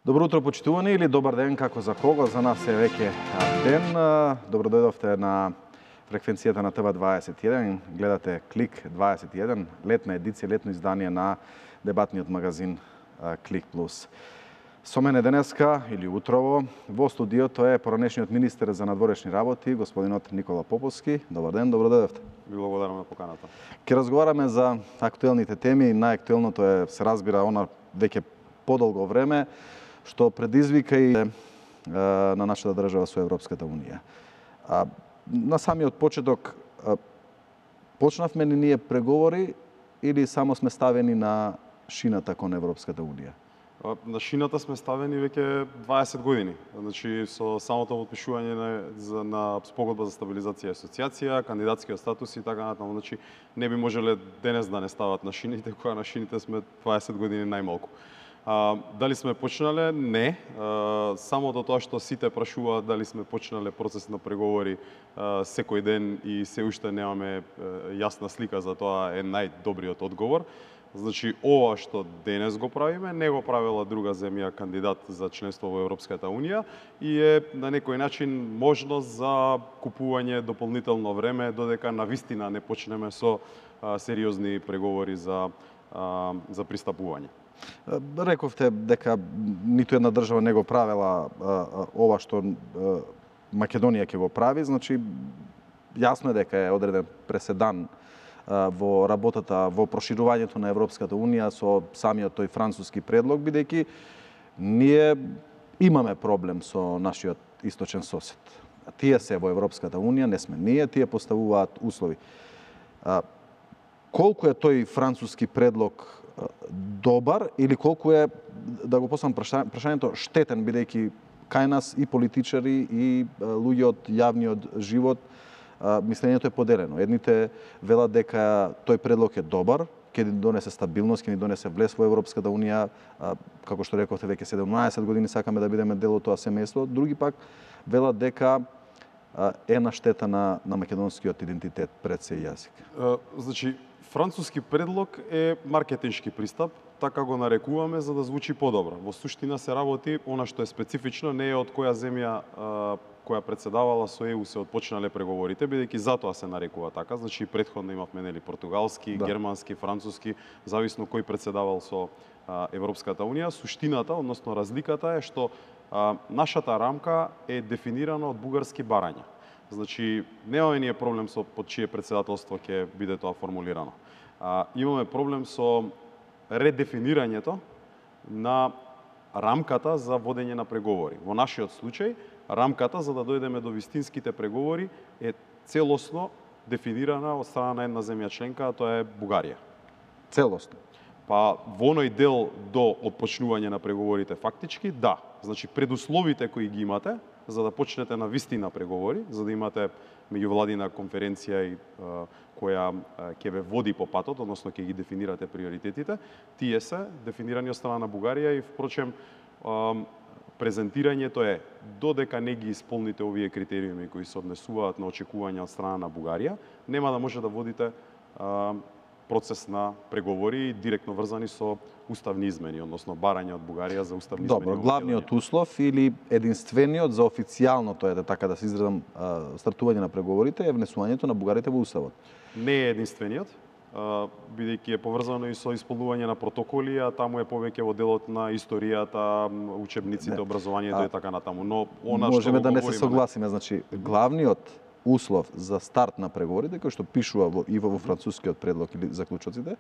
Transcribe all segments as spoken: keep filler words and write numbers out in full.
Добро утро, почитувани, или добар ден, како за кого, за нас е веќе ден. Добро дојдовте на фреквенцијата на Т В дваесет и еден. Гледате Клик дваесет и еден, летна едиција, летно издание на дебатниот магазин Клик Плюс. Со мене денеска, или утрово, во студиото е поранешниот министер за надворешни работи, господинот Никола Поповски. Добар ден, добро дојдовте. Ви благодарам на поканата. Ке разговараме за актуелните теми. Најактуелното е, се разбира, она веќе подолго време, што предизвика и е, на нашата држава со Европската Унија. А, на самиот почеток, а, почнавме ли ние преговори или само сме ставени на шината кон Европската Унија? На шината сме ставени веќе дваесет години. Значи, со самото подпишување на, за, на спогодба за стабилизација и асоциација, кандидатскиот статус и така натаму. Значи, не би можеле денес да не стават на шините, кога на шините сме дваесет години најмалку. А, дали сме почнале? Не. А, самото тоа што сите прашуваат дали сме почнале процес на преговори а, секој ден и се уште немаме а, јасна слика за тоа е најдобриот одговор. Значи, ова што денес го правиме, не го правила друга земја кандидат за членство во Европската Унија и е на некој начин можност за купување дополнително време додека навистина не почнеме со а, сериозни преговори за, а, за пристапување. Рековте дека ниту една држава не го правела ова што Македонија ќе го прави, значи јасно е дека е одреден преседан во работата, во проширувањето на Европската Унија со самиот тој француски предлог, бидејќи ние имаме проблем со нашиот источен сосед. Тие се во Европската Унија, не сме ние, тие поставуваат услови. Колку е тој француски предлог добар или колку е, да го поставам прашањето, штетен, бидејќи кај нас и политичари и луѓе од јавниот живот мислењето е поделено. Едните велат дека тој предлог е добар, ќе ни донесе стабилност, ќе ни донесе влез во Европската Унија, како што рековте, веќе седумнаесет години сакаме да бидеме дел од тоа семејство. Други пак велат дека е на штета на, на македонскиот идентитет, пред се и јазик. Значи, француски предлог е маркетиншки пристап, така го нарекуваме за да звучи подобро. Во суштина се работи она што е специфично, не е од која земја која председавала со Е У се отпочнале преговорите, бидејќи затоа се нарекува така. Значи, предходно имавме нели португалски, да. германски, француски, зависно кој председавал со а, Европската Унија. Суштината, односно разликата е што а, нашата рамка е дефинирана од бугарски барања. Значи, немаме ние проблем со под чие председателство ќе биде тоа формулирано. А, имаме проблем со редефинирањето на рамката за водење на преговори. Во нашиот случај, рамката за да дојдеме до вистинските преговори е целосно дефинирана од страна на една земја членка, а тоа е Бугарија. Целосно? Па во оној дел до отпочнување на преговорите фактички, да. Значи, предусловите кои ги имате за да почнете на вистина преговори, за да имате меѓувладина конференција и а, која а, ќе ве води по патот, односно ќе ги дефинирате приоритетите, тие се дефинирани од страна на Бугарија и впрочем а, презентирањето е додека не ги исполните овие критериуми кои се однесуваат на очекувања од страна на Бугарија, нема да може да водите а, процес на преговори директно врзани со уставни измени, односно барање од Бугарија за уставни измени. Добро, главниот услов или единствениот за официјалното е така да се изразам стартување на преговорите е внесувањето на бугарите во уставот. Не е единствениот, бидејќи е поврзано и со исполнување на протоколи, а таму е повеќе во делот на историјата, учебниците, не. образованието а, и така натаму. Но она можеме што да не се согласиме, значи главниот услов за старт на преговорите, кој што пишува во, и во францускиот предлог или заклучоците,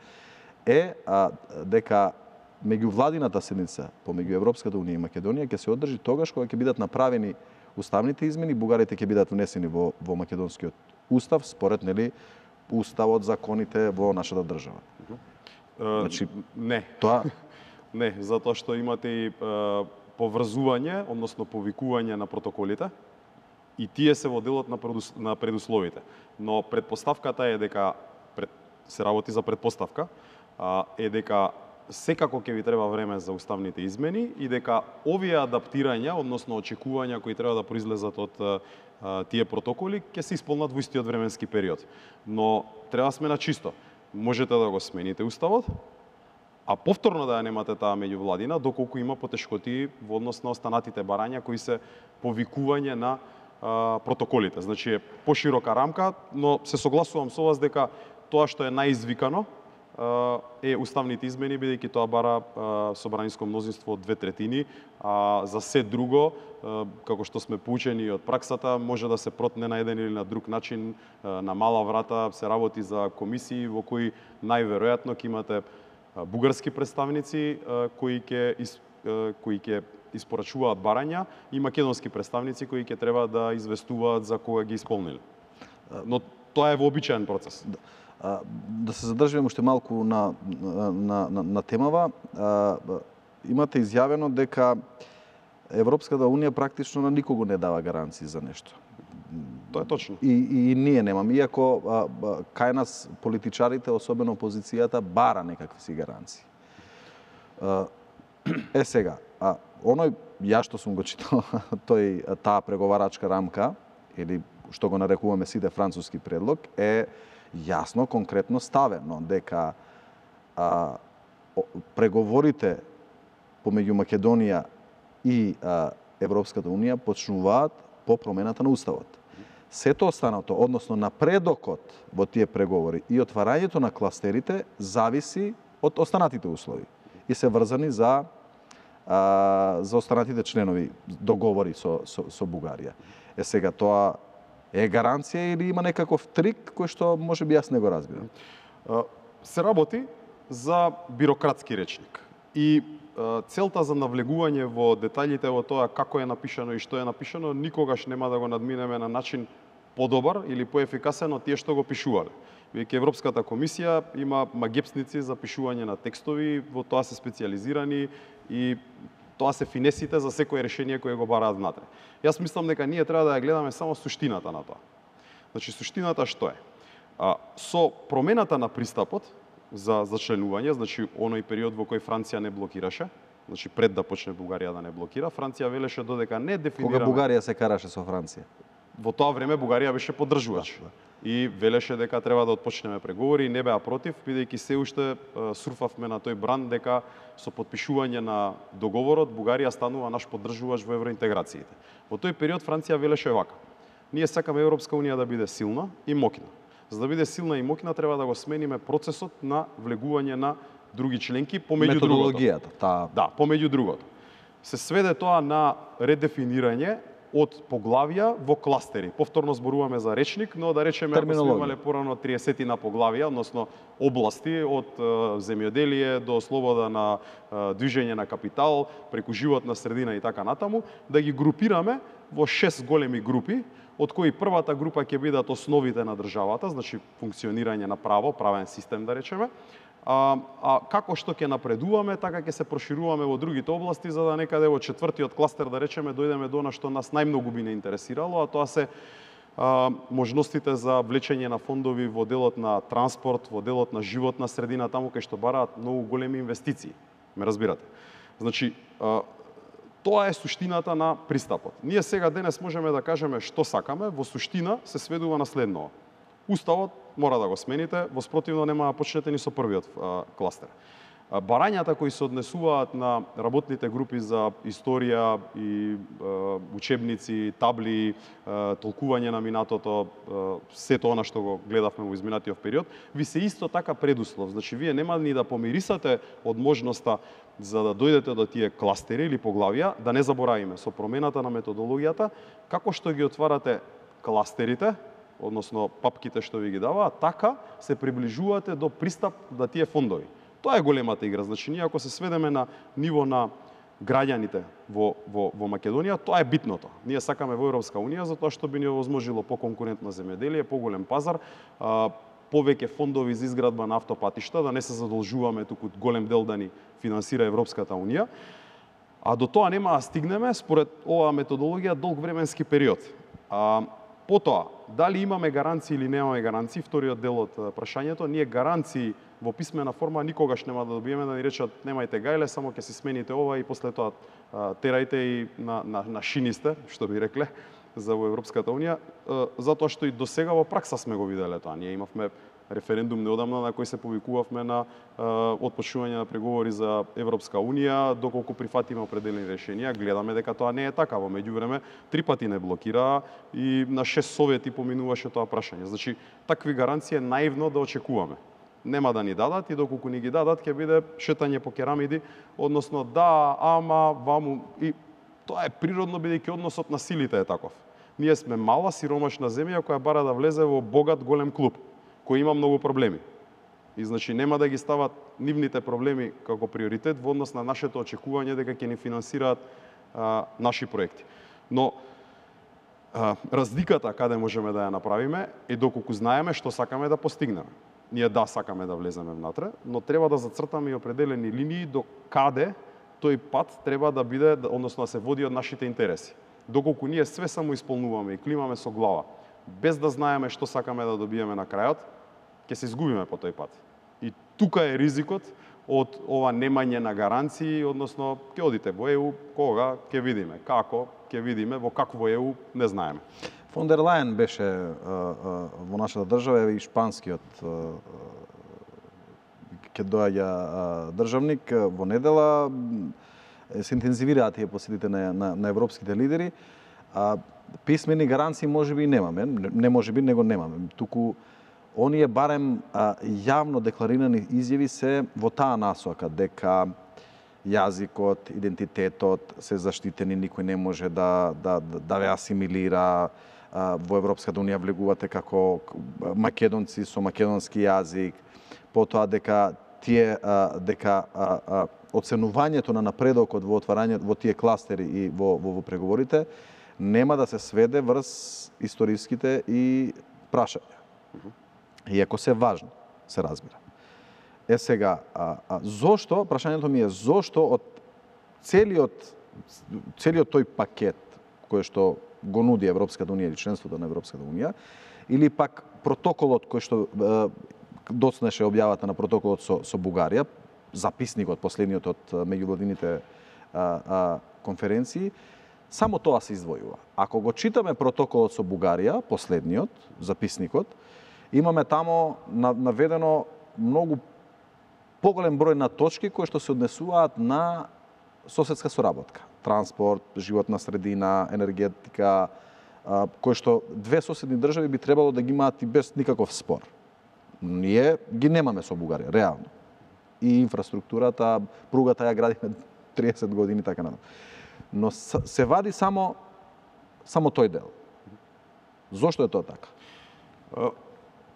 е а, дека меѓувладината седница помеѓу Европската Унија и Македонија ќе се одржи тогаш кога ќе бидат направени уставните измени, бугарите ќе бидат внесени во, во македонскиот устав, според нели уставот, законите во нашата држава. Uh, значи, не. Тоа не, затоа што имате и uh, поврзување, односно повикување на протоколите, и тие се во делот на, предус, на предусловите. Но предпоставката е дека, пред, се работи за предпоставка, а, е дека секако ќе ви треба време за уставните измени и дека овие адаптирања, односно очекувања кои треба да произлезат од а, тие протоколи, ќе се исполнат во истиот временски период. Но треба сме на чисто. Можете да го смените уставот, а повторно да ја немате таа меѓувладина, доколку има потешкоти во однос на останатите барања кои се повикување на а, протоколите. Значи е поширока рамка, но се согласувам со вас дека тоа што е наизвикано е уставните измени, бидејќи тоа бара собраниско мнозинство од две третини, а за се друго, како што сме поучени од праксата, може да се протне на еден или на друг начин, на мала врата се работи за комисии во кои најверојатно ќе имате бугарски представници кои ќе кои ќе испорачуваат барања и македонски представници кои ќе треба да известуваат за кога ги исполниле. Но тоа е вообичаен процес. Да се задржиме уште малку на, на, на, на темава. Имате изјавено дека Европската Унија практично на никого не дава гаранции за нешто. Тоа е точно. И, и, и ние немаме, иако а, а, кај нас политичарите, особено опозицијата, бара некакви си гаранции. А, е сега, а, оној, ја што сум го читал, тој, таа преговарачка рамка, или што го нарекуваме сите француски предлог, е јасно, конкретно ставено дека а, преговорите помеѓу Македонија и а, Европската Унија почнуваат по промената на Уставот. Сето останато, односно напредокот во тие преговори и отварањето на кластерите зависи од останатите услови и се врзани за а, за останатите членови договори со, со, со Бугарија. Е сега тоа е гаранција или има некаков трик кој што можеби јас не го разбирам? Се работи за бирократски речник. И целта за навлегување во детаљите во тоа како е напишано и што е напишано никогаш нема да го надминеме на начин подобар или поефикасен од тие што го пишувале. Веќе Европската комисија има магепсници за пишување на текстови, во тоа се специализирани и тоа се финесите за секое решение кое го бараат внатре. Јас мислам дека ние треба да ја гледаме само суштината на тоа. Значи, суштината што е? А, со промената на пристапот за зачленување, значи оној период во кој Франција не блокираше, значи пред да почне Бугарија да не блокира, Франција велеше додека не дефинираме... Кога Бугарија се караше со Франција? Во тоа време Бугарија беше поддржувач. Да, да. И велеше дека треба да отпочнеме преговори, не беа против, бидејќи се уште сурфавме на тој бран дека со подпишување на договорот Бугарија станува наш поддржувач во евроинтеграциите. Во тој период Франција велеше вака: ние сакаме Европска Унија да биде силна и моќна. За да биде силна и моќна треба да го смениме процесот на влегување на други членки помеѓу другото. Методологијата, таа. Да, помеѓу другото. Се сведе тоа на редефинирање од поглавја во кластери. Повторно зборуваме за речник, но да речеме ако сме имале порано триесет на поглавја, односно области од земјоделие до слобода на движење на капитал, преку животна средина и така натаму, да ги групираме во шест големи групи, од кои првата група ќе бидат основите на државата, значи функционирање на право, правен систем да речеме, А, а како што ќе напредуваме, така ќе се прошируваме во другите области, за да некаде во четвртиот кластер, да речеме, дојдеме до она што нас најмногу би не интересирало, а тоа се а, можностите за влечење на фондови во делот на транспорт, во делот на животна средина, таму кај што бараат многу големи инвестиции. Ме разбирате? Значи, а, тоа е суштината на пристапот. Ние сега денес можеме да кажеме што сакаме, во суштина се сведува на следното. Уставот мора да го смените, во спротивно нема да почнете ни со првиот а, кластер. А, барањата кои се однесуваат на работните групи за историја и а, учебници, табли, а, толкување на минатото, а, сето она што го гледавме во изминатиот период, ви се исто така предуслов. Значи, вие нема ни да помирисате од можноста за да дојдете до тие кластери или поглавија, да не заборавиме со промената на методологијата, како што ги отварате кластерите, односно папките што ви ги даваат, така се приближувате до пристап до тие фондови. Тоа е големата игра. Значи, ние ако се сведеме на ниво на граѓаните во, во, во Македонија, тоа е битното. Ние сакаме во Европска Унија затоа што би ни овозможило по-конкурентно земјоделие, поголем пазар, а, повеќе фондови за изградба на автопатишта, да не се задолжуваме туку голем дел да ни финансира Европската Унија. А до тоа нема да стигнеме според оваа методологија долг временски период. А, Потоа, дали имаме гаранции или немаме гаранции, вториот дел од прашањето, ние гаранции во писмена форма никогаш нема да добиеме, да ни речат немајте гајле, само ќе си смените ова и после тоа терајте и на, на, на шинисте, што би рекле, за во Европската Унија, затоа што и до сега во пракса сме го виделе тоа. Ние имавме референдум неодамна на кој се повикувавме на отпочнување на преговори за Европска унија, доколку прифатиме определени решенија, гледаме дека тоа не е така. Во меѓувреме три пати не блокира и на шест совети поминуваше тоа прашање. Значи, такви гаранции е наивно да очекуваме. Нема да ни дадат и доколку ни ги дадат ќе биде шетање по керамиди, односно да, ама, ваму и тоа е природно бидејќи односот на силите е таков. Ние сме мала, сиромашна земја која бара да влезе во богат голем клуб, кој има многу проблеми. И значи нема да ги стават нивните проблеми како приоритет во однос на нашето очекување дека ќе ни финансираат а, наши проекти. Но а, разликата каде можеме да ја направиме е доколку знаеме што сакаме да постигнеме. Ние да сакаме да влеземе внатре, но треба да зацртаме и определени линии до каде тој пат треба да биде, односно да се води од нашите интереси. Доколку ние све само исполнуваме и климаме со глава, без да знаеме што сакаме да добиеме на крајот, ќе се изгубиме по тој пат. И тука е ризикот од ова немање на гаранции, односно ќе одите во ЕУ, кога ќе видиме, како ќе видиме, во какво ЕУ не знаеме. Фон дер Лајен беше а, а, во нашата држава и шпанскиот ќе доаѓа државник во недела. Се интензивираат тие посетите на, на, на европските лидери. А, писмени гаранции можеби и немаме, не можеби, него немаме. Туку оние барем а, јавно декларирани изјави се во таа насока дека јазикот, идентитетот се заштитени, никој не може да да да ве асимилира. Во Европската унија влегувате како македонци со македонски јазик, потоа дека тие дека оценувањето на напредокот во отварање во тие кластери и во во, во преговорите нема да се сведе врз историските и прашања. Иако се важно, се разбира. Е сега, а, а, зошто, прашањето ми е зошто од целиот целиот тој пакет кој што го нуди Европската унија или членството на Европската унија, или пак протоколот кој што е, доцнеше објавата на протоколот со, со Бугарија, записникот последниот од меѓувладините конференции, само тоа се издвојува. Ако го читаме протоколот со Бугарија, последниот, записникот, имаме тамо наведено многу поголем број на точки кои што се однесуваат на соседска соработка. Транспорт, животна средина, енергетика, кои што две соседни држави би требало да ги имаат и без никаков спор. Ние ги немаме со Бугарија, реално. И инфраструктурата, пругата ја градиме триесет години, така натаму. Но се вади само само тој дел. Зошто е тоа така?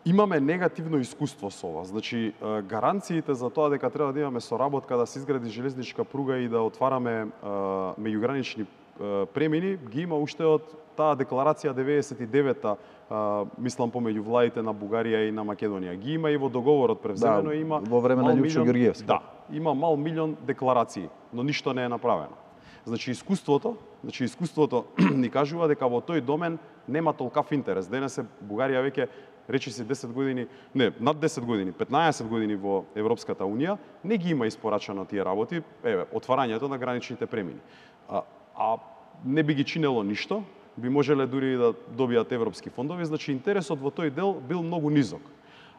Имаме негативно искуство со ова. Значи, гаранциите за тоа дека треба да имаме соработка, да се изгради железничка пруга и да отвараме меѓугранични премини, ги има уште од таа декларација деветдесет и девета, мислам помеѓу владите на Бугарија и на Македонија. Ги има и во договорот превземено, да, има во време на Љупчо Ѓорѓиевски. Да, има мал милион декларации, но ништо не е направено. Значи искуството, значи искуството ни кажува дека во тој домен нема толкав интерес. Денес е Бугарија веќе речи се десет години, не, над десет години, петнаесет години во Европската унија, не ги има испорачано тие работи, еве, отварањето на граничните премини. А, а не би ги чинело ништо, би можеле дури да добијат европски фондови, значи интересот во тој дел бил многу низок.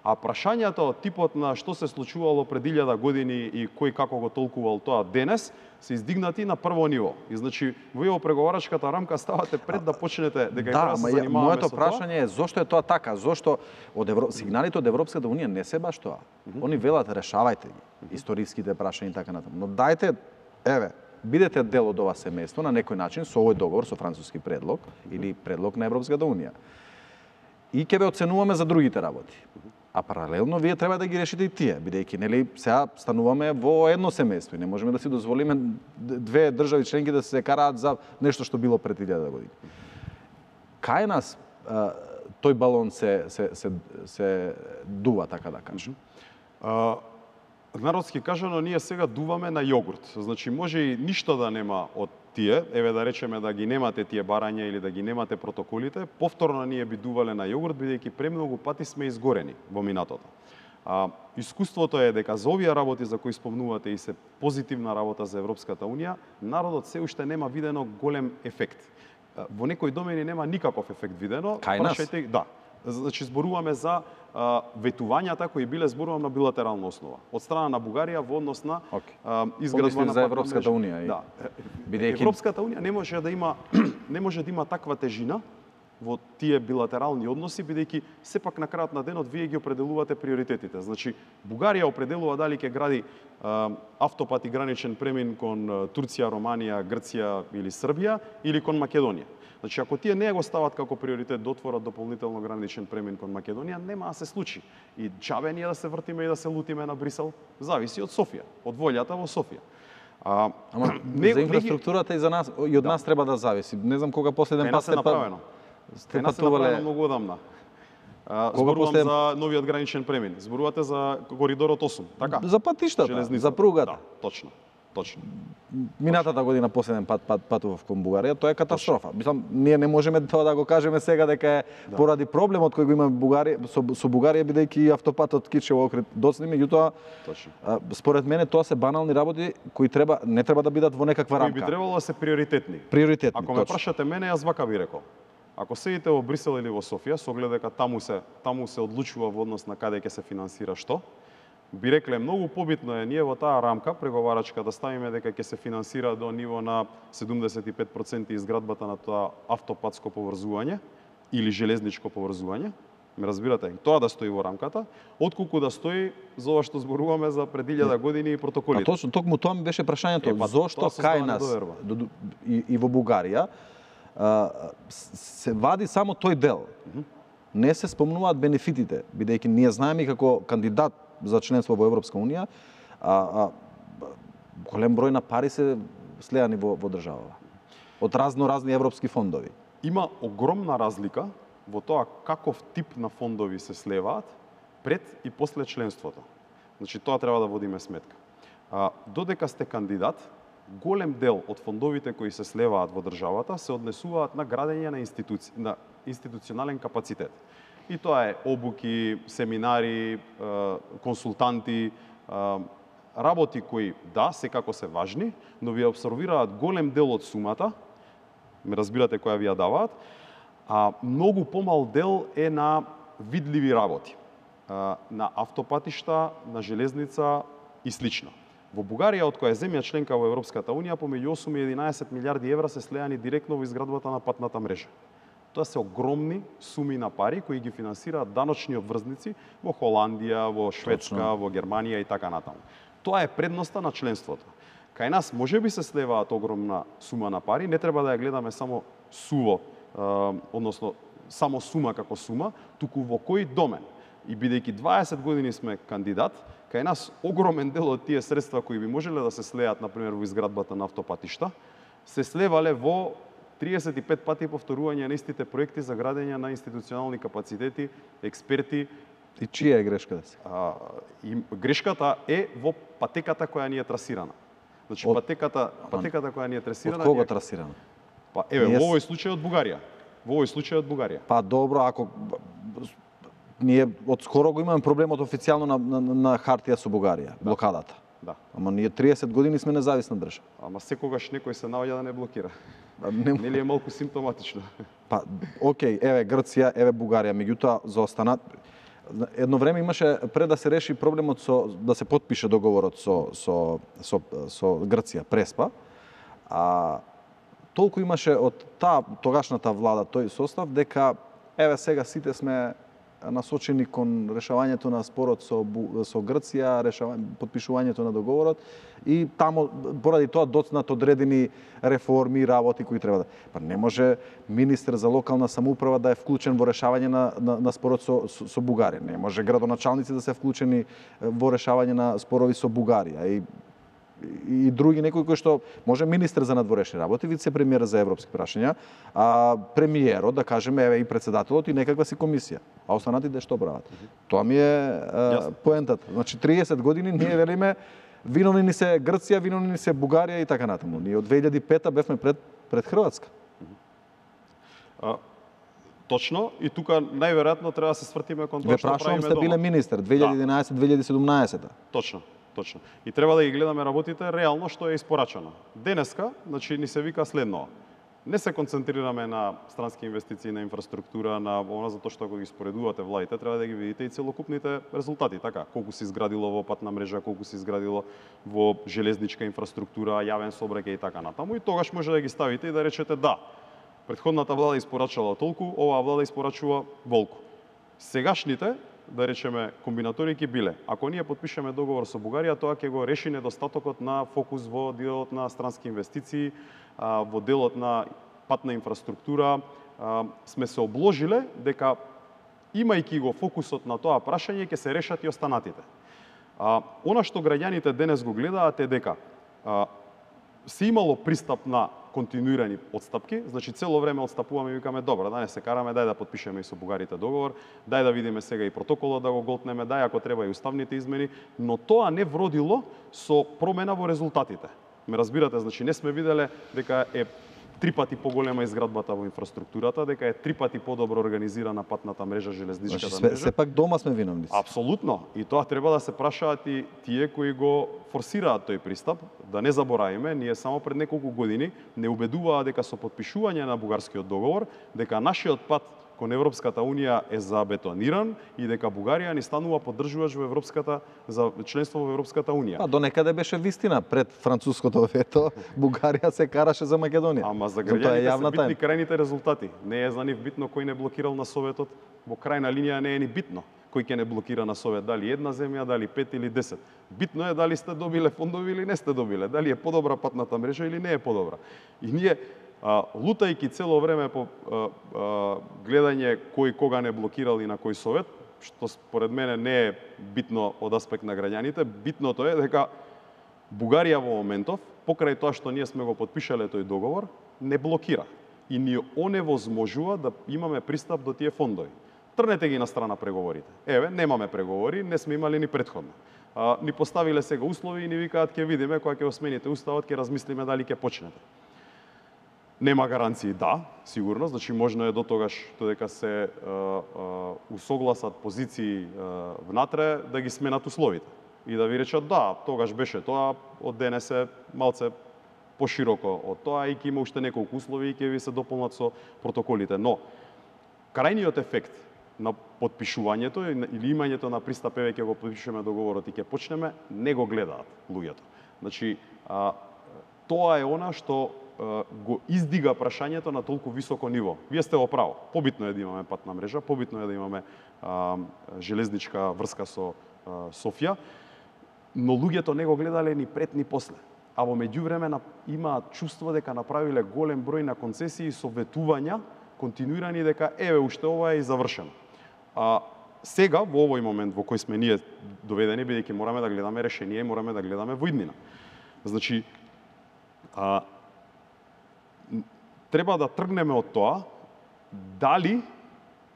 А прашањата од типот на што се случувало пред илјада години и кој како го толкувал тоа денес, се издигнати на прво ниво. И значи во ево преговарачката рамка ставате пред да почнете дека да, да се занимаваме моето со прашање е зошто е тоа така? Зошто од Евро... сигналите од Европската унија не се баш тоа. Mm -hmm. Они велат решавајте ги, mm -hmm. историските прашања и така натаму. Но дајте, еве, бидете дел од ова семејство на некој начин со овој договор, со француски предлог mm -hmm. или предлог на Европската унија. И ќе ве оценуваме за другите работи. Mm -hmm. А паралелно вие треба да ги решите и тие, бидејќи нели сега стануваме во едно семејство и не можеме да си дозволиме две држави членки да се караат за нешто што било пред илјада години. Кај нас а, тој балон се се се се дува, така да кажам. А, народски кажано, ние сега дуваме на јогурт. Значи може и ништо да нема од тие, еве да речеме да ги немате тие барања или да ги немате протоколите, повторно ние би дувале на јогурт, бидејќи премногу пати сме изгорени во минатото. А, искуството е дека за овие работи за кои спомнувате и се позитивна работа за Европската унија, народот се уште нема видено голем ефект. Во некои домени нема никаков ефект видено. Кај нас? Да. Значи зборуваме за а, ветувањата кои биле зборувам на билатерална основа од страна на Бугарија во однос на okay. а, изградба на за Европската унија. И... Да. Бидејќи... Европската унија не може да има не може да има таква тежина во тие билатерални односи, бидејќи сепак на крајот на денот вие ги определувате приоритетите. Значи, Бугарија определува дали ќе гради а, автопат и граничен премин кон Турција, Романија, Грција или Србија, или кон Македонија. Значи, ако тие не го стават како приоритет да отворат дополнително граничен премин кон Македонија, нема да се случи. И џабе ние да се вртиме и да се лутиме на Брисел, зависи од Софија, од волјата во Софија. А, Ама не, за инфраструктурата не... и за нас и од да. нас треба да зависи. Не знам кога последен пат сте направено. Кај нас е направено многу одамна. Зборувам после... за новиот граничен премин. Зборувате за коридорот осум, така? За патиштата, железница. За пругата. Да, точно. Точно. Минатата година последен пат, пат патував кон Бугарија, тоа е катастрофа. Мислам, ние не можеме тоа да го кажеме сега дека е да. поради проблемот кој го има Бугарија со, со Бугарија бидејќи автопатот Кичево Охрид доцни, меѓутоа според мене тоа се банални работи кои треба не треба да бидат во некаква рамка. Кои би требало да се приоритетни. Приоритетни. Ако ме прашате мене, јас вака би рекол. Ако седите во Брисел или во Софија, со оглед дека таму се таму се одлучува во однос на каде ќе се финансира што, би рекле многу побитно е ние во таа рамка преговарачка да ставиме дека ќе се финансира до ниво на седумдесет и пет проценти изградбата на тоа автопатско поврзување или железничко поврзување. Ме разбирате? Тоа да стои во рамката, отколку да стои за ова што зборуваме за пред илјада години и протоколите. А точно, токму тоа ми беше прашањето, е, па, зошто кај нас и, и во Бугарија се вади само тој дел. Не се спомнуваат бенефитите, бидејќи ние знаеме како кандидат за членство во Европска унија, а, а голем број на пари се слеани во, во државава. Од разно разни европски фондови. Има огромна разлика во тоа каков тип на фондови се слеваат пред и после членството. Значи тоа треба да водиме сметка. А, додека сте кандидат, голем дел од фондовите кои се слеваат во државата се однесуваат на градење на институци... на институционален капацитет. И тоа е обуки, семинари, консултанти, работи кои, да, секако се важни, но ви абсорбираат голем дел од сумата, ме разбирате која ви ја даваат, а многу помал дел е на видливи работи, на автопатишта, на железница и слично. Во Бугарија, од која е земја членка во Европската унија, помеѓу осум и единаесет милиарди евра се слеани директно во изградбата на патната мрежа. Тоа се огромни суми на пари кои ги финансираат даночни обврзници во Холандија, во Шведска, Точно. во Германија и така натаму. Тоа е предноста на членството. Кај нас можеби се слеваат огромна сума на пари, не треба да ја гледаме само суво, е, односно само сума како сума, туку во кој домен. И бидејќи дваесет години сме кандидат, кај нас огромен дел од тие средства кои би можеле да се слеат, например, во изградбата на автопатишта, се слевале во триесет и пет пати повторување на истите проекти за градење на институционални капацитети, експерти. И чија е грешката се? А, и грешката е во патеката која ни е трасирана. Значи од... патеката, патеката која ни е трасирана. Од кого трасирана? Па еве, ние... во овој случај од Бугарија. Во овој случај од Бугарија. Па добро, ако ние од скоро го имаме проблемот официјално на, на, на хартија со Бугарија, да. Блокадата. Да. Ама ние триесет години сме независна држава. Ама секогаш некој се наоѓа да не блокира. Не... Нели е малку симптоматично? Па, окей, еве Грција, еве Бугарија, меѓутоа за останат едно време имаше пред да се реши проблемот со да се потпише договорот со со со со Грција, Преспа. А толку имаше од таа тогашната влада тој состав дека еве сега сите сме насочени кон решавањето на спорот со со Грција, решавање потпишувањето на договорот и таму поради тоа доцнат одредени реформи и работи кои треба да. Па не може министер за локална самоуправа да е вклучен во решавање на на, на спорот со, со со Бугарија. Не може градоначалници да се вклучени во решавање на спорови со Бугарија и и други некои кои што може министер за надворешни работи, вице-премиер за европски прашања, а премиерот, да кажеме, еве и председателот и некаква си комисија. А останатите што прават? Mm -hmm. Тоа ми е а, поентата. Значи триесет години ние велиме виновни ни се Грција, виновни ни се Бугарија и така натаму. Ние од две илјади и пета бевме пред пред Хрватска. Mm -hmm. а, точно, и тука најверојатно треба да се свртиме кон тоа што правиме дома. Ве прашувам, сте биле министер две илјади и единаесет две илјади и седумнаесет. Точно. Точно. И треба да ги гледаме работите реално што е испорачано. Денеска, значи, ни се вика следно. Не се концентрираме на странски инвестиции, на инфраструктура, на она, затоа што ако ги споредувате владите, треба да ги видите и целокупните резултати, така, колку се изградило во патна мрежа, колку се изградило во железничка инфраструктура, јавен сообраќај и така натаму, и тогаш може да ги ставите и да речете да, претходната влада испорачала толку, оваа влада испорачува волку. Сегашните, да речеме, комбинатори ќе биле. Ако ние потпишеме договор со Бугарија, тоа ќе го реши недостатокот на фокус во делот на странски инвестиции, во делот на патна инфраструктура. Сме се обложиле дека, имајќи го фокусот на тоа прашање, ќе се решат и останатите. Она што граѓаните денес го гледаат е дека се имало пристап на континуирани отстапки, значи цело време отстапуваме и викаме добро, да не се караме, дај да потпишеме и со бугарите договор, дај да видиме сега и протоколот да го голтнеме, дај ако треба и уставните измени, но тоа не вродило со промена во резултатите. Ме разбирате, значи не сме виделе дека е три пати поголема изградбата во инфраструктурата, дека е три пати подобро организирана патната мрежа, железничката значи, мрежа. Сепак дома сме виновници. Апсолутно. И тоа треба да се прашаат и тие кои го форсираат тој пристап. Да не заборавиме, ние само пред неколку години не убедуваа дека со потпишување на бугарскиот договор, дека нашиот пат кон Европската унија е забетониран и дека Бугарија ни станува поддржувач во Европската за членство во Европската унија. Па до некаде беше вистина, пред француското вето Бугарија се караше за Македонија. Ама за граѓаните се битни крајните резултати. Не е за нив битно кој не блокирал на Советот, во крајна линија не е ни битно кој ќе не блокира на Совет, дали една земја, дали пет или десет. Битно е дали сте добиле фондови или не сте добиле, дали е подобра патната мрежа или не е подобра. И ние А, лутајќи цело време по а, а, гледање кој кога не блокирал и на кој совет, што според мене не е битно од аспект на граѓаните, битното е дека Бугарија во моментов, покрај тоа што ние сме го потпишале тој договор, не блокира и ни оневозможува да имаме пристап до тие фондови. Трнете ги на страна преговорите. Еве, немаме преговори, не сме имали ни претходно. А, ни поставиле сега услови и ни викаат ќе видиме кога ќе осмените уставот, ќе размислиме дали ќе почнете. Нема гаранции, да, сигурно, значи можно е до тогаш додека се а, а, усогласат позиции а, внатре да ги сменат условите и да ви речат да, тогаш беше тоа, од денес е малце пошироко од тоа и ќе има уште неколку услови и ќе ви се дополнат со протоколите, но крајниот ефект на потпишувањето или имањето на пристап, еве ќе го потпишеме договорот и ќе почнеме, не го гледаат луѓето. Значи, а, тоа е она што го издига прашањето на толку високо ниво. Вие сте во право. Побитно е да имаме патна мрежа, побитно е да имаме а, железничка врска со а, Софија, но луѓето не го гледале ни пред ни после. А во меѓувреме имаат чувство дека направиле голем број на концесии со ветувања, континуирани дека еве уште ова е и завршено. А сега во овој момент во кој сме ние доведени, бидејќи мораме да гледаме решение и мораме да гледаме во иднина. Значи, а, треба да тргнеме од тоа дали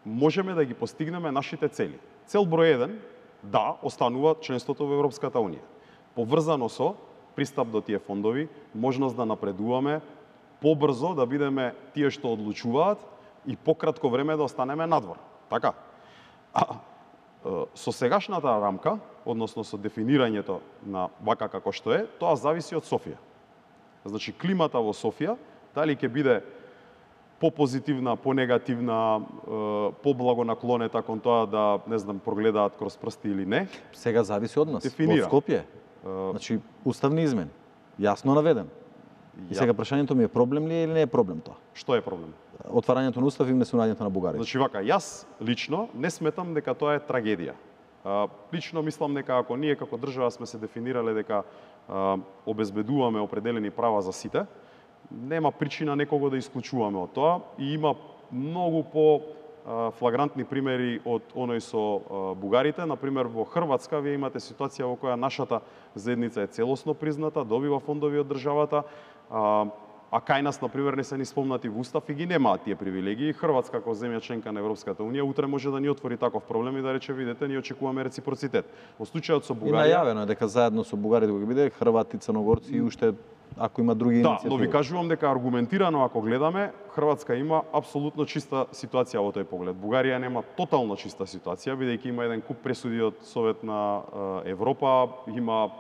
можеме да ги постигнеме нашите цели. Цел број еден, да, останува членството во Европската унија. Поврзано со пристап до тие фондови, можност да напредуваме, побрзо да бидеме тие што одлучуваат и пократко време да останеме надвор. Така? А, со сегашната рамка, односно со дефинирањето на вака како што е, тоа зависи од Софија. Значи, климата во Софија, дали ќе биде попозитивна, понегативна, поблагонаклонета кон тоа да, не знам, прогледаат кроз прсти или не. Сега зависи од нас, Дефинира. од Скопје. Значи, уставни измени, јасно наведен. И сега прашањето ми е проблем ли е или не е проблем тоа? Што е проблем? Отварањето на устав и внесувањето на Бугарија. Значи вака, јас лично не сметам дека тоа е трагедија. А, лично мислам дека ако ние како држава сме се дефинирале дека а, обезбедуваме определени права за сите, нема причина некого да исклучуваме од тоа и има многу по а, флагрантни примери од оној со а, бугарите. Например, во Хрватска вие имате ситуација во која нашата заедница е целосно призната, добива фондови од државата, а, а кај нас, например, не се ни спомнати во устав и ги немаат тие привилегии. Хрватска, како земја членка на Европската унија, утре може да ни отвори таков проблем и да рече, видете, ние очекуваме реципроцитет. Во случајот со Бугарија... И најавено е дека заедно со бугарите кога биде хрвати, црногорци и уште ако има други да, иницијативи. Да, но ви кажувам дека аргументирано ако гледаме, Хрватска има апсолутно чиста ситуација во тој поглед. Бугарија нема тотално чиста ситуација, бидејќи има еден куп пресуди од Совет на Европа, има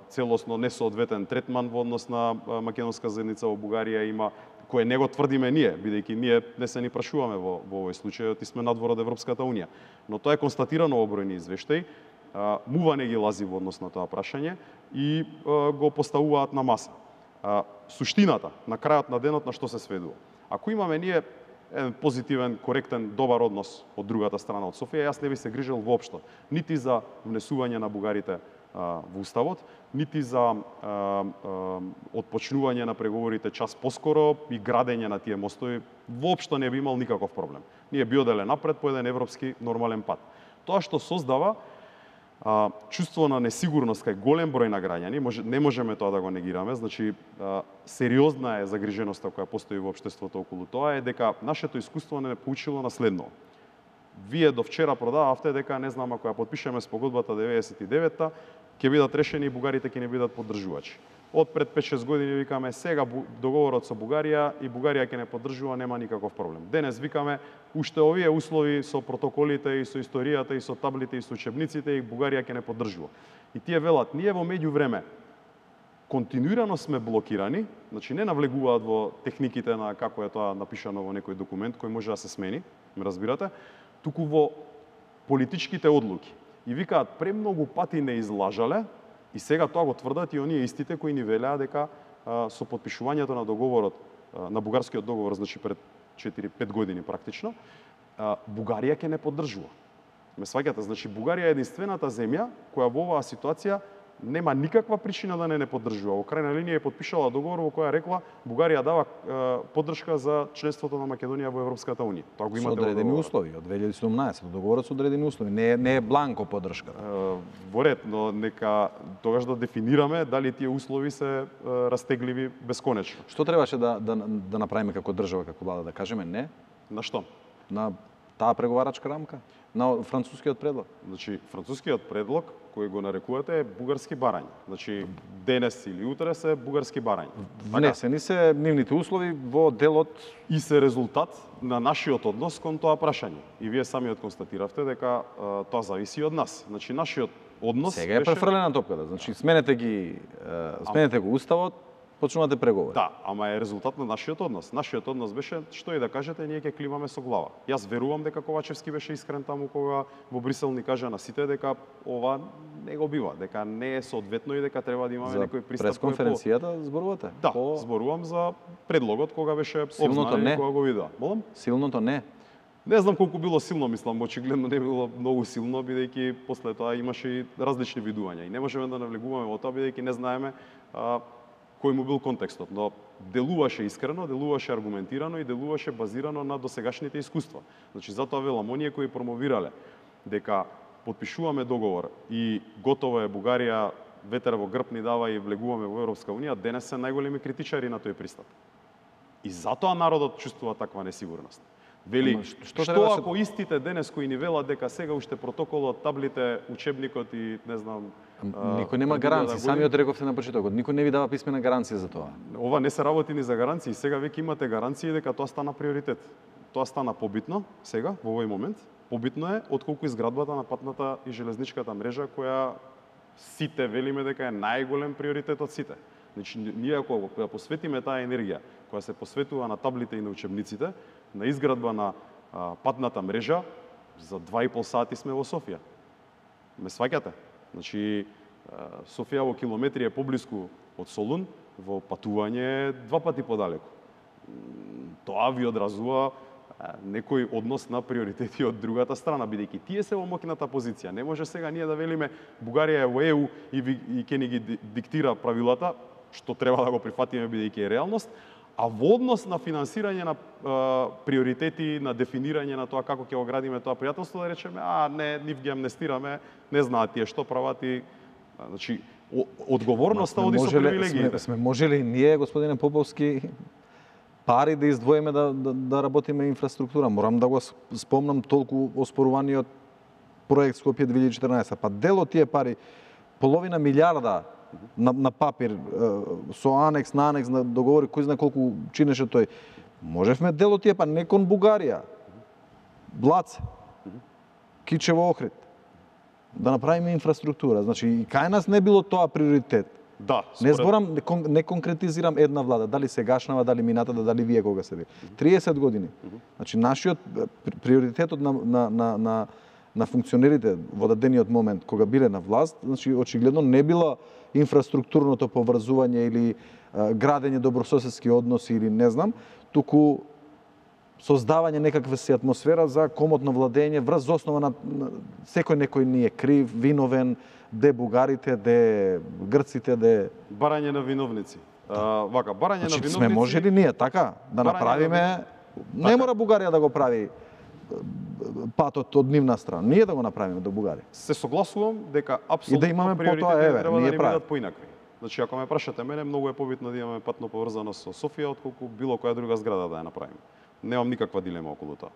целосно несоодветен третман во однос на македонска заедница во Бугарија, има кое не го тврдиме ние, бидејќи ние не се ни прашуваме во, во овој случај, и сме надвор од Европската унија. Но тоа е констатирано во бројни извештаи. МУВА не ги лази во однос на тоа прашање и го поставуваат на маса. Суштината, на крајот на денот, на што се сведува? Ако имаме ние еден позитивен, коректен, добар однос од другата страна од Софија, јас не би се грижел воопшто нити за внесување на бугарите а, во Уставот, нити за а, а, отпочнување на преговорите час поскоро и градење на тие мостови. Воопшто не би имал никаков проблем. Ние би оделе напред по еден европски нормален пат. Тоа што создава а, чувство на несигурност кај голем број на граѓани, може, не можеме тоа да го негираме, значи а, сериозна е загриженоста која постои во општеството околу тоа, е дека нашето искуство не поучило на следно. Вие до вчера продававте дека, не знам, ако ја подпишеме спогодбата деветдесет и девета, ќе бидат решени и бугарите ќе не бидат поддржувачи. Од пред пет-шест години викаме сега договорот со Бугарија и Бугарија ќе не поддржува, нема никаков проблем. Денес викаме уште овие услови со протоколите и со историјата и со таблите и со учебниците и Бугарија ќе не поддржува. И тие велат, ние во меѓувреме континуирано сме блокирани, значи не навлегуваат во техниките на како е тоа напишано во некој документ кој може да се смени, ме разбирате, туку во политичките одлуки. И викаат, премногу пати не излажале, и сега тоа го тврдат и оние истите кои ни велеа дека а, со подпишувањето на договорот, а, на бугарскиот договор, значи пред четири-пет години практично, а, Бугарија ќе не поддржува. Ме сваќате, значи Бугарија е единствената земја која во оваа ситуација нема никаква причина да не не поддржува. Во крајна линија е подпишала договор во која рекла Бугарија дава е, поддршка за членството на Македонија во Европската унија. Тоа го имате со одредени услови од две илјади и седумнаесета, договорот со одредени услови, не е, не е бланко поддршка. Е, во ред, но нека тогаш да дефинираме дали тие услови се е, растегливи бесконечно. Што требаше да да да направиме како држава, како влада, да кажеме не? На што? На таа преговарачка рамка, на францускиот предлог. Значи, францускиот предлог кој го нарекувате е бугарски барања. Значи, денес или утре се бугарски барања. Внесени се нивните услови во делот и се резултат на нашиот однос кон тоа прашање. И вие самиот констатиравте дека а, тоа зависи од нас. Значи, нашиот однос сега е беше... префрлена топката. Значи, сменете ги, сменете го уставот, почнувате преговори. Да, ама е резултат на нашиот однос. Нашиот однос беше, што и да кажете, ние ќе климаме со глава. Јас верувам дека Ковачевски беше искрен таму кога во Брисел ни кажа на сите дека ова не го бива, дека не е соодветно и дека треба да имаме за некој пристап. За пресконференцијата зборувате? Да, по... зборувам за предлогот кога беше обзнанен и кога го вида. Молам? Силното не. Не знам колку било силно, мислам, очигледно не било многу силно, бидејќи после тоа имаше и различни видувања. И не можеме да навлегуваме во тоа, бидејќи не знаеме а, кој му бил контекстот, но делуваше искрено, делуваше аргументирано и делуваше базирано на досегашните искуства. Значи, затоа велам, оние кои промовирале дека подпишуваме договор и готово е Бугарија ветер во грб ни дава и влегуваме во Европска унија, денес се најголеми критичари на тој пристап. И затоа народот чувствува таква несигурност. Вели, што, што ако се... истите денес кои ни велат дека сега уште протоколот, таблите, учебникот и не знам... Никој нема гаранции, да самиот рековте на почетокот, никој не ви дава писмена гаранција за тоа. Ова не се работи ни за гаранции, сега веќе имате гаранции дека тоа стана приоритет. Тоа стана побитно сега, во овој момент. Побитно е отколку изградбата на патната и железничката мрежа која сите велиме дека е најголем приоритет од сите. Значи, ние ако ја посветиме таа енергија која се посветува на таблите и на учебниците, на изградба на а, патната мрежа, за два и пол сати сме во Софија. Ме сваќате? Значи, а, Софија во километри е поблиску од Солун, во патување е два пати подалеку. Тоа ви одразува а, некој однос на приоритети од другата страна, бидејќи тие се во моќната позиција. Не може сега ние да велиме Бугарија е во Е У и, ви, и ќе ни ги диктира правилата, што треба да го прифатиме бидејќи е реалност, а во однос на финансирање на а, приоритети, на дефинирање на тоа како ќе го градиме тоа пријателство, да речеме, а не, нив ги амнестираме, не знаат тие што прават и... Значи, одговорноста оди со привилегиите. Сме, сме можели ние, господине Поповски, пари да издвоиме да, да, да работиме инфраструктура. Морам да го спомнам толку оспоруваниот проект Скопје две илјади и четрнаесета. Па дел од тие пари, половина милиарда на, на папир, со анекс на анекс на договори, кој знае колку чинеше тој. Можевме дел од тие, па не кон Бугарија, Блаце, Кичево Охрид, да направиме инфраструктура. Значи, и кај нас не било тоа приоритет. Да, Не според... зборам, не, кон, не конкретизирам една влада, дали сегашнава, дали минатата, дали вие кога се били. триесет години. Значи нашиот приоритетот на на на на на функционерите во дадениот момент кога биле на власт, значи очигледно не било инфраструктурното поврзување или а, градење добрососедски односи или не знам, туку создавање некаква си атмосфера за комотно владење врз основа на, на секој некој ни е крив, виновен, де бугарите, де грците, де барање на виновници. А, вака, барање значи, на виновници. сме можели ние така да Барање направиме, на... не така. мора Бугарија да го прави патот од нивна страна. Ние да го направиме до Бугарија. Се согласувам дека И апсолутно да имаме приоритетите потоа, еве, треба ние да ни правиме. бидат поинакви. Значи, ако ме прашате мене, многу е побитно да имаме патно поврзаност со Софија отколку било која друга зграда да ја направиме. Немам никаква дилема околу тоа.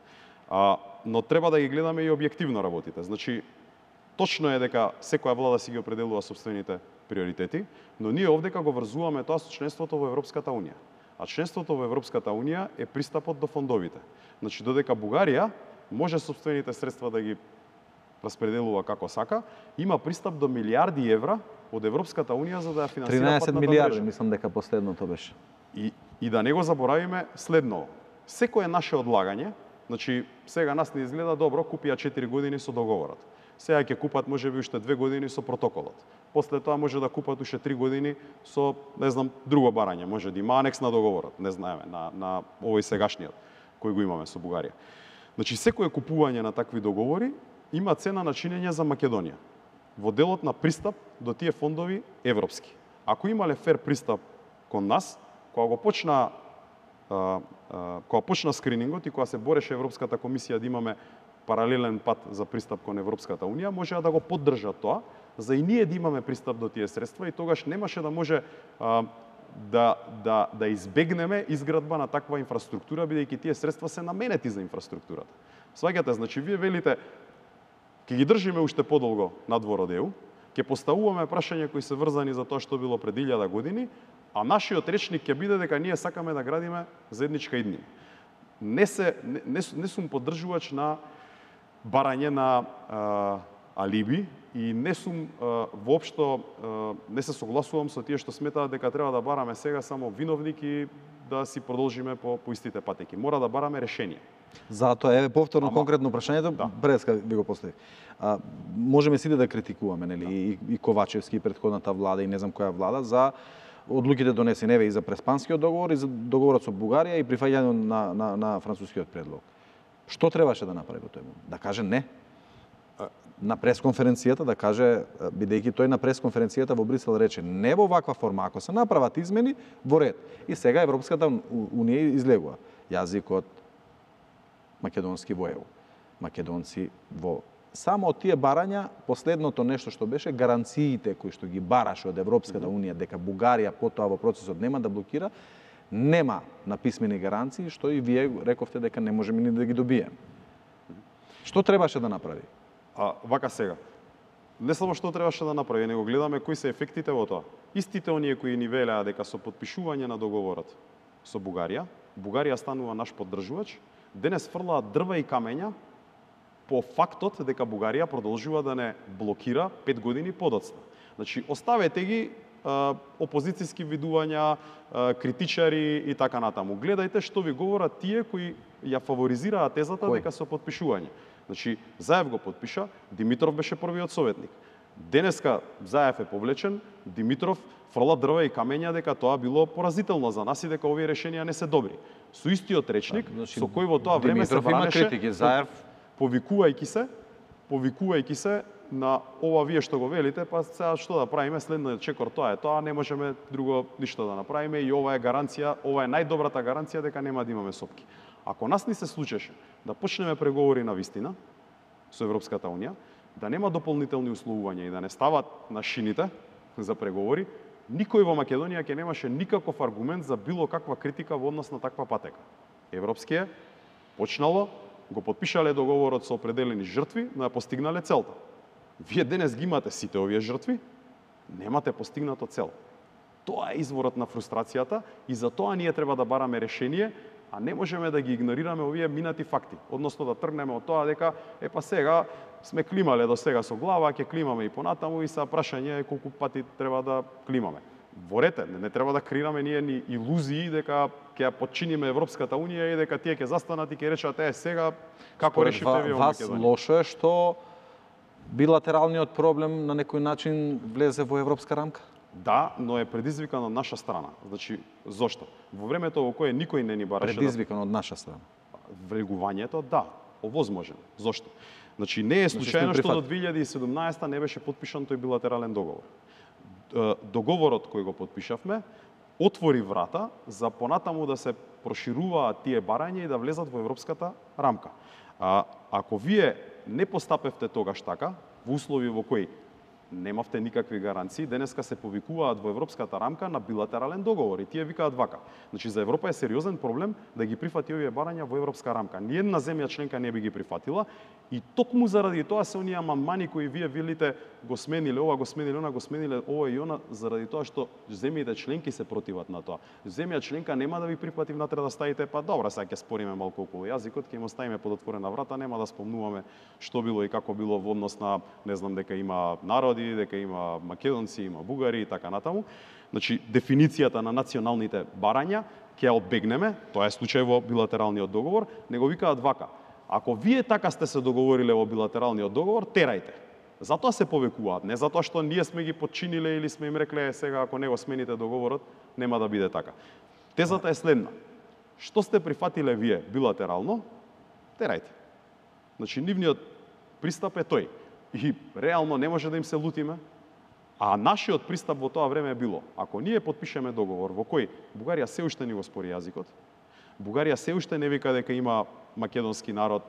А, но треба да ги гледаме и објективно работите. Значи, точно е дека секоја влада си ги определува собствените приоритети, но ние овдека го врзуваме тоа со членството во Европската унија. А членството во Европската унија е пристапот до фондовите. Значи, додека Бугарија може собствените средства да ги распределува како сака, има пристап до милиарди евра од Европската унија за да ја финансира тринаесет патната милиарди, мрежа. мислам дека последното беше. И, и да не го заборавиме следно. Секое наше одлагање, значи сега нас не изгледа добро, купија четири години со договорот. Сега ќе купат можеби уште две години со протоколот. После тоа може да купат уште три години со, не знам, друго барање, може да има анекс на договорот, не знаеме, на, на овој сегашниот кој го имаме со Бугарија. Значи секое купување на такви договори има цена на чинење за Македонија во делот на пристап до тие фондови европски. Ако имале фер пристап кон нас, кога го почна а, а, кога почна скринингот и кога се бореше Европската комисија да имаме паралелен пат за пристап кон Европската унија, можеа да го поддржат тоа, за и ние да имаме пристап до тие средства и тогаш немаше да може а, да, да, да избегнеме изградба на таква инфраструктура, бидејќи тие средства се наменети за инфраструктурата. Сваѓате, значи вие велите ќе ги држиме уште подолго надвор од Е У, ќе поставуваме прашања кои се врзани за тоа што било пред илјада години, а нашиот речник ќе биде дека ние сакаме да градиме заедничка иднина. Не се не, не, не сум поддржувач на барање на а, алиби и не сум а, воопшто а, не се согласувам со тие што сметаат дека треба да бараме сега само виновник и да си продолжиме по, по истите патеки. Мора да бараме решение. Затоа еве повторно Ама... конкретно прашањето, Да. преска ви го поставив. А, можеме сите да критикуваме, нели, да. и, и Ковачевски и претходната влада и не знам која влада за одлуките донесени еве и за Преспанскиот договор и за договорот со Бугарија и прифаќањето на, на, на францускиот предлог. Што требаше да направи во тој момент? Да каже не. На пресконференцијата да каже, бидејќи тој на пресконференцијата во Брисел рече не во ваква форма, ако се направат измени, во ред. И сега Европската унија излегува јазикот македонски во Е У. Македонци во само од тие барања, последното нешто што беше гаранциите кои што ги бараше од Европската унија дека Бугарија потоа во процесот нема да блокира, нема на писмени гаранции, што и вие рековте дека не можеме ни да ги добиеме. Што требаше да направи? А вака сега. Не само што требаше да направи, него гледаме кои се ефектите во тоа. Истите оние кои ни велеа дека со подпишување на договорот со Бугарија, Бугарија станува наш поддржувач, денес фрлаат дрва и камења по фактот дека Бугарија продолжува да не блокира пет години подоцна. Значи, оставете ги а, опозицијски видувања, а, критичари и така натаму. Гледајте што ви говорат тие кои ја фаворизираат тезата Кој? дека со подпишување. Значи, Заев го подпиша, Димитров беше првиот советник. Денеска Заев е повлечен, Димитров фрла дрва и камења дека тоа било поразително за нас и дека овие решенија не се добри. Со истиот речник, значи, со кој во тоа време се Димитров има бранеше, критики, Заев повикувајќи се, повикувајќи се на ова вие што го велите, па сега што да правиме, следниот чекор тоа е тоа, не можеме друго ништо да направиме и ова е гаранција, ова е најдобрата гаранција дека нема да имаме сопки. Ако нас ни се случеше да почнеме преговори на вистина со Европската унија, да нема дополнителни условувања и да не стават на шините за преговори, никој во Македонија ќе немаше никаков аргумент за било каква критика во однос на таква патека. Европскиот почнало, го подпишале договорот со определени жртви, но ја постигнале целта. Вие денес ги имате сите овие жртви, немате постигнато цел. Тоа е изворот на фрустрацијата и за тоа ние треба да бараме решение а не можеме да ги игнорираме овие минати факти, односно да тргнеме од тоа дека е па сега сме климале до сега со глава, ќе климаме и понатаму и са прашање е колку пати треба да климаме. Ворете, не, не треба да креираме ние ни илузии дека ќе ја подчиниме Европската унија и дека тие ќе застанат и ќе речат е сега како решите вие во Македонија. Вас лошо е што билатералниот проблем на некој начин влезе во европска рамка? Да, но е предизвикан од наша страна. Значи, зошто? Во времето во кое никој не ни бараше предизвикан од наша страна. Влегувањето, да, овозможено. Зошто? Значи, не е случајно што до две илјади и седумнаесета не беше подпишан тој билатерален договор. Договорот кој го подпишавме отвори врата за понатаму да се прошируваат тие барања и да влезат во европската рамка. А, ако вие не постапевте тогаш така, во услови во кои немавте никакви гаранции, денеска се повикуваат во европската рамка на билатерален договор и тие викаат вака. Значи за Европа е сериозен проблем да ги прифати овие барања во европска рамка. Ниедна земја членка не би ги прифатила и токму заради тоа се оние амандмани кои вие велите го смениле ова, го смениле она, го смениле ова и она, заради тоа што земјите членки се противат на тоа. Земја членка нема да ви прифати внатре да ставите, па добра, сега ќе спориме малку околу јазикот, ќе им оставиме под отворена врата, нема да спомнуваме што било и како било во однос на, не знам, дека има народи, дека има македонци, има бугари и така натаму. Значи, дефиницијата на националните барања ќе ја одбегнеме, тоа е случај во билатералниот договор, него викаат вака. Ако вие така сте се договориле во билатералниот договор, терајте. Затоа се повекуваат, не затоа што ние сме ги подчиниле или сме им рекле сега ако не го смените договорот, нема да биде така. Тезата е следна. Што сте прифатиле вие билатерално, терајте. Значи, нивниот пристап е тој. И реално не може да им се лутиме, а нашиот пристап во тоа време е било, ако ние подпишеме договор во кој Бугарија се уште не го спори јазикот, Бугарија се уште не вика дека има македонски народ,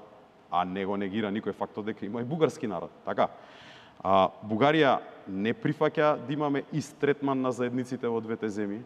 а не го негира никој фактот дека има и бугарски народ, така? А, Бугарија не прифаќа да имаме ист третман на заедниците во двете земји.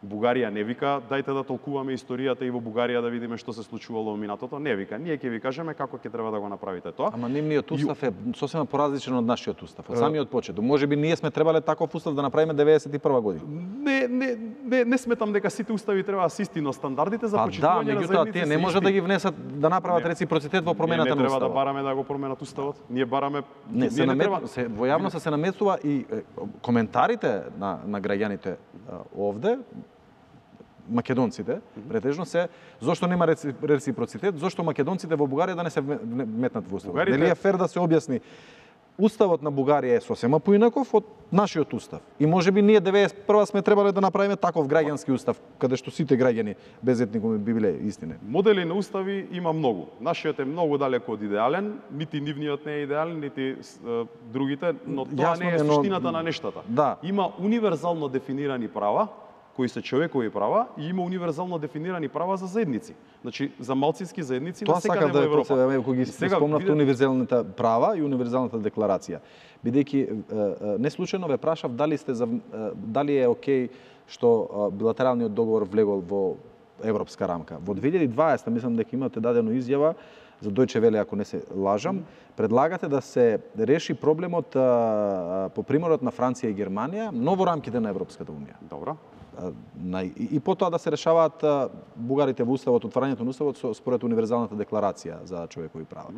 Бугарија не вика дајте да толкуваме историјата и во Бугарија да видиме што се случувало во минатото, не вика. Ние ќе ви кажеме како ќе треба да го направите тоа. Ама нивниот устав е сосема поразличен од нашиот устав, од самиот почеток. Можеби ние сме требале таков устав да направиме деветдесет и прва година. Не, не, не, не сметам дека сите устави треба да се исти, но стандардите за па почитување да, на заедници тие не може да ги внесат да направат реципроцитет во промената на уставот. Не треба да бараме да го променат уставот. Ние бараме не, се, намет... треба... се во јавноста се намесува и е, коментарите на на граѓаните овде македонците, претежно се зошто нема реципроцитет, зошто македонците во Бугарија да не се метнат во уставот. Бугарите... Нели е фер да се објасни уставот на Бугарија е сосема поинаков од нашиот устав. И можеби ние деветдесет и прва сме требале да направиме таков граѓански устав, каде што сите граѓани без етникуми би биле истини. Модели на устави има многу. Нашиот е многу далеко од идеален, нити нивниот не е идеален, нити е, другите, но тоа Јасно, не е суштината но... на нештата. Да. Има универзално дефинирани права, кои се човекови права и има универзално дефинирани права за заедници. Значи за малцински заедници на секаде во Европа. Тоа сакам да кога ги спомнавте виде... универзалните права и универзалната декларација. Бидејќи не случајно ве прашав дали сте за дали е окей што билатералниот договор влегол во европска рамка. Во две илјади и дваесета мислам дека имате дадено изјава за Дојче Веле, ако не се лажам, предлагате да се реши проблемот а, по примерот на Франција и Германија, но во рамките на Европската унија. Добро. На, и, и потоа да се решаваат а, бугарите во уставот, отварањето на уставот со, според универзалната декларација за човекови права.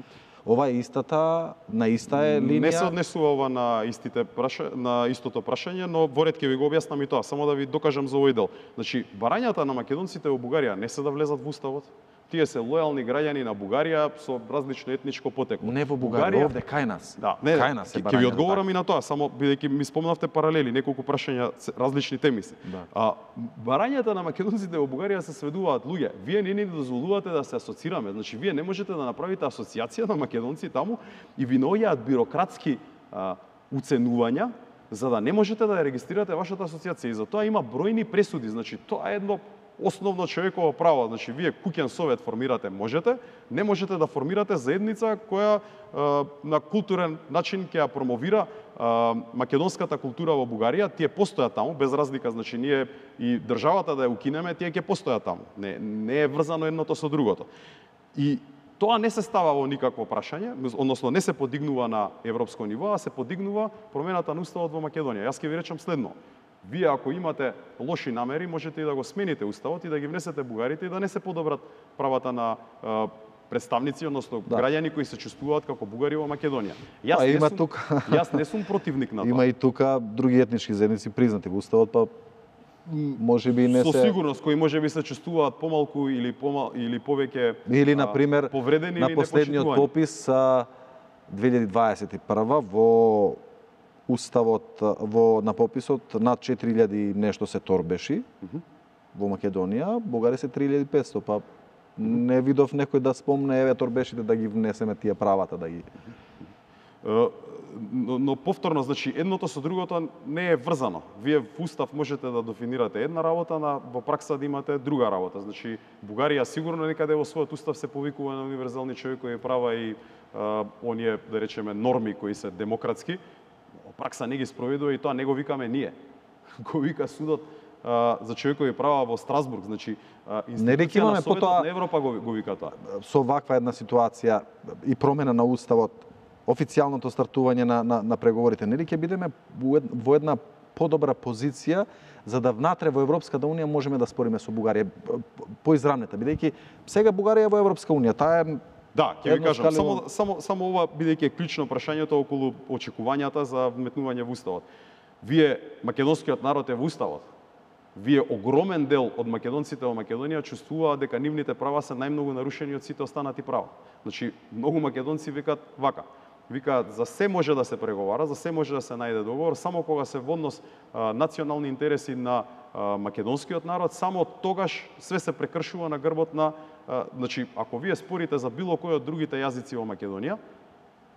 Ова е истата, на иста е линија. Не се однесува ова на истите праша, на истото прашање, но во ред ќе ви го објаснам и тоа, само да ви докажам за овој дел. Значи, барањата на македонците во Бугарија не се да влезат во уставот. Тие се лојални граѓани на Бугарија со различно етничко потекло. Не во Бугарија, Бугарија... овде кај нас. Да, не, кај нас е барањата. Ќе ви одговорам и на тоа, само бидејќи ми спомнавте паралели, неколку прашања, различни теми се. Да. А барањата на македонците во Бугарија се сведуваат луѓе. Вие не ни дозволувате да се асоцираме, значи вие не можете да направите асоциација на македонци таму и ви наоѓаат бирократски а, уценувања за да не можете да ја регистрирате вашата асоциација. И за тоа има бројни пресуди, значи тоа е едно основно човеково право, значи вие куќен совет формирате можете, не можете да формирате заедница која е, на културен начин ќе ја промовира е, македонската култура во Бугарија, тие постојат таму без разлика, значи ние и државата да ја укинеме, тие ќе постојат таму. Не не е врзано едното со другото. И тоа не се става во никакво прашање, односно не се подигнува на европско ниво, а се подигнува промената на уставот во Македонија. Јас ќе ви речам следно. Вие ако имате лоши намери, можете и да го смените уставот и да ги внесете бугарите и да не се подобрат правата на а, представници, односно Да. граѓани кои се чувствуваат како бугари во Македонија. Јас А, не има сум, тука. Јас не сум противник на тоа. Има и тука други етнички заедници признати во уставот, па може би не Со се... сигурност кои може би се чувствуваат помалку или помал или повеќе Или на пример повредени на или последниот непочитувани. попис а, две илјади дваесет и прва во уставот во на пописот над четири илјади нешто се торбеши mm -hmm. во Македонија, бугари се три илјади и петстотини, па не видов некој да спомне еве торбешите да ги внесеме тие правата да ги Но, но повторно, значи, едното со другото не е врзано. Вие в устав можете да дефинирате една работа, на во пракса да имате друга работа. Значи, Бугарија сигурно некаде во својот устав се повикува на универзални човекови права и а, оние, да речеме, норми кои се демократски. Во пракса не ги спроведува и тоа не го викаме ние. Го вика судот а, за човекови права во Страсбург. Значи, а, институција на Советот потоа, на Европа го, го вика тоа. Со ваква една ситуација и промена на уставот, официјалното стартување на, на, на преговорите, нели ќе бидеме во една подобра позиција за да внатре во Европската унија можеме да спориме со Бугарија поизрамнета, бидејќи сега Бугарија е во Европска унија, таа е... Да, ќе ви кажам, Едноскаливо- само, само, само ова бидејќи е клучно прашањето околу очекувањата за вметнување во уставот. Вие, македонскиот народ е во уставот. Вие, огромен дел од македонците во Македонија чувствуваат дека нивните права се најмногу нарушени од сите останати права. Значи, многу македонци викаат вака. Викаат, за се може да се преговара, за се може да се најде договор, само кога се во однос а, национални интереси на а, македонскиот народ, само тогаш све се прекршува на грбот на... А, значи, ако вие спорите за било кој од другите јазици во Македонија,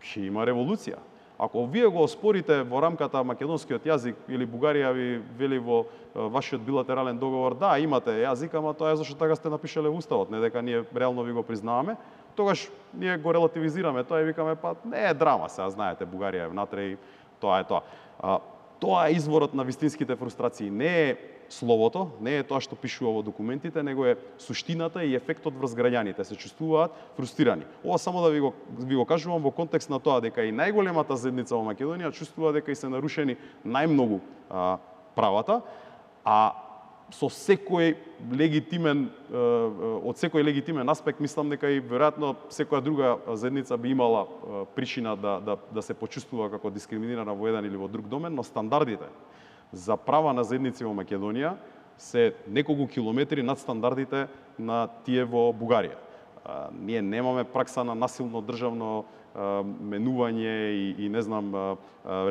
ќе има револуција. Ако вие го оспорите во рамката македонскиот јазик или Бугарија ви вели во а, вашиот билатерален договор, да, имате јазик, ама тоа е зашто така сте напишале во уставот, не дека ние реално ви го признаваме, тогаш ние го релативизираме тоа и викаме, па не е драма сега, знаете, Бугарија е внатре и тоа е тоа. А, тоа е изворот на вистинските фрустрации. Не е словото, не е тоа што пишува во документите, него е суштината и ефектот врз граѓаните. Се чувствуваат фрустрирани. Ова само да ви го, ви го кажувам во контекст на тоа дека и најголемата заедница во Македонија чувствува дека и се нарушени најмногу а, правата, а со секој легитимен, од секој легитимен аспект, мислам дека и веројатно секоја друга заедница би имала причина да, да, да се почувствува како дискриминирана во еден или во друг домен, но стандардите за права на заедници во Македонија се неколку километри над стандардите на тие во Бугарија. Ние немаме пракса на насилно државно менување и, и не знам,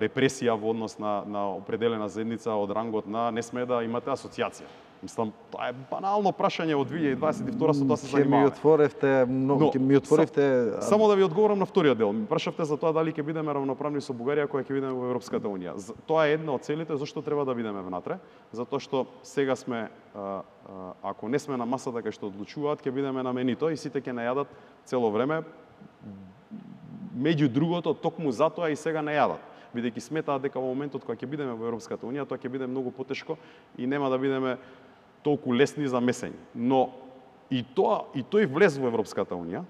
репресија во однос на, на определена заедница од рангот на не сме да имате асоциација. Мислам, тоа е банално прашање од две илјади дваесет и втора со тоа се Ќе ми занимаваме. отворевте, многу, ќе ми отворевте... Сам, само да ви одговорам на вториот дел. Ми прашавте за тоа дали ќе бидеме равноправни со Бугарија кога ќе бидеме во Европската унија. Тоа е една од целите зашто треба да бидеме внатре, затоа што сега сме, а, а, ако не сме на масата кај што одлучуваат, ќе бидеме на менито и сите ќе најадат цело време. Меѓу другото, токму затоа и сега не јадат, бидејќи сметаат дека во моментот кога ќе бидеме во Европската унија, тоа ќе биде многу потешко и нема да бидеме толку лесни за месење. Но и тоа и тој влез во Европската унија,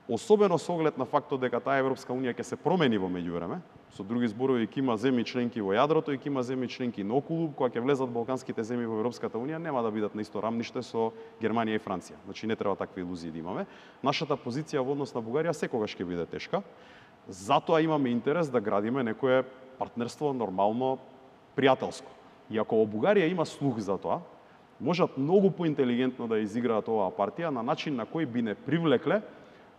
особено со оглед на фактот дека таа Европска унија ќе се промени во меѓувреме, со други зборови ќе има земји членки во јадрото и ќе има земји членки наоколу, кога ќе влезат балканските земји во Европската унија, нема да бидат на исто рамниште со Германија и Франција. Значи не треба такви илузии да имаме. Нашата позиција во однос на Бугарија секогаш ќе биде тешка. Затоа имаме интерес да градиме некое партнерство нормално, пријателско. И ако во Бугарија има слух за тоа, можат многу поинтелигентно да изиграат оваа партија на начин на кој би не привлекле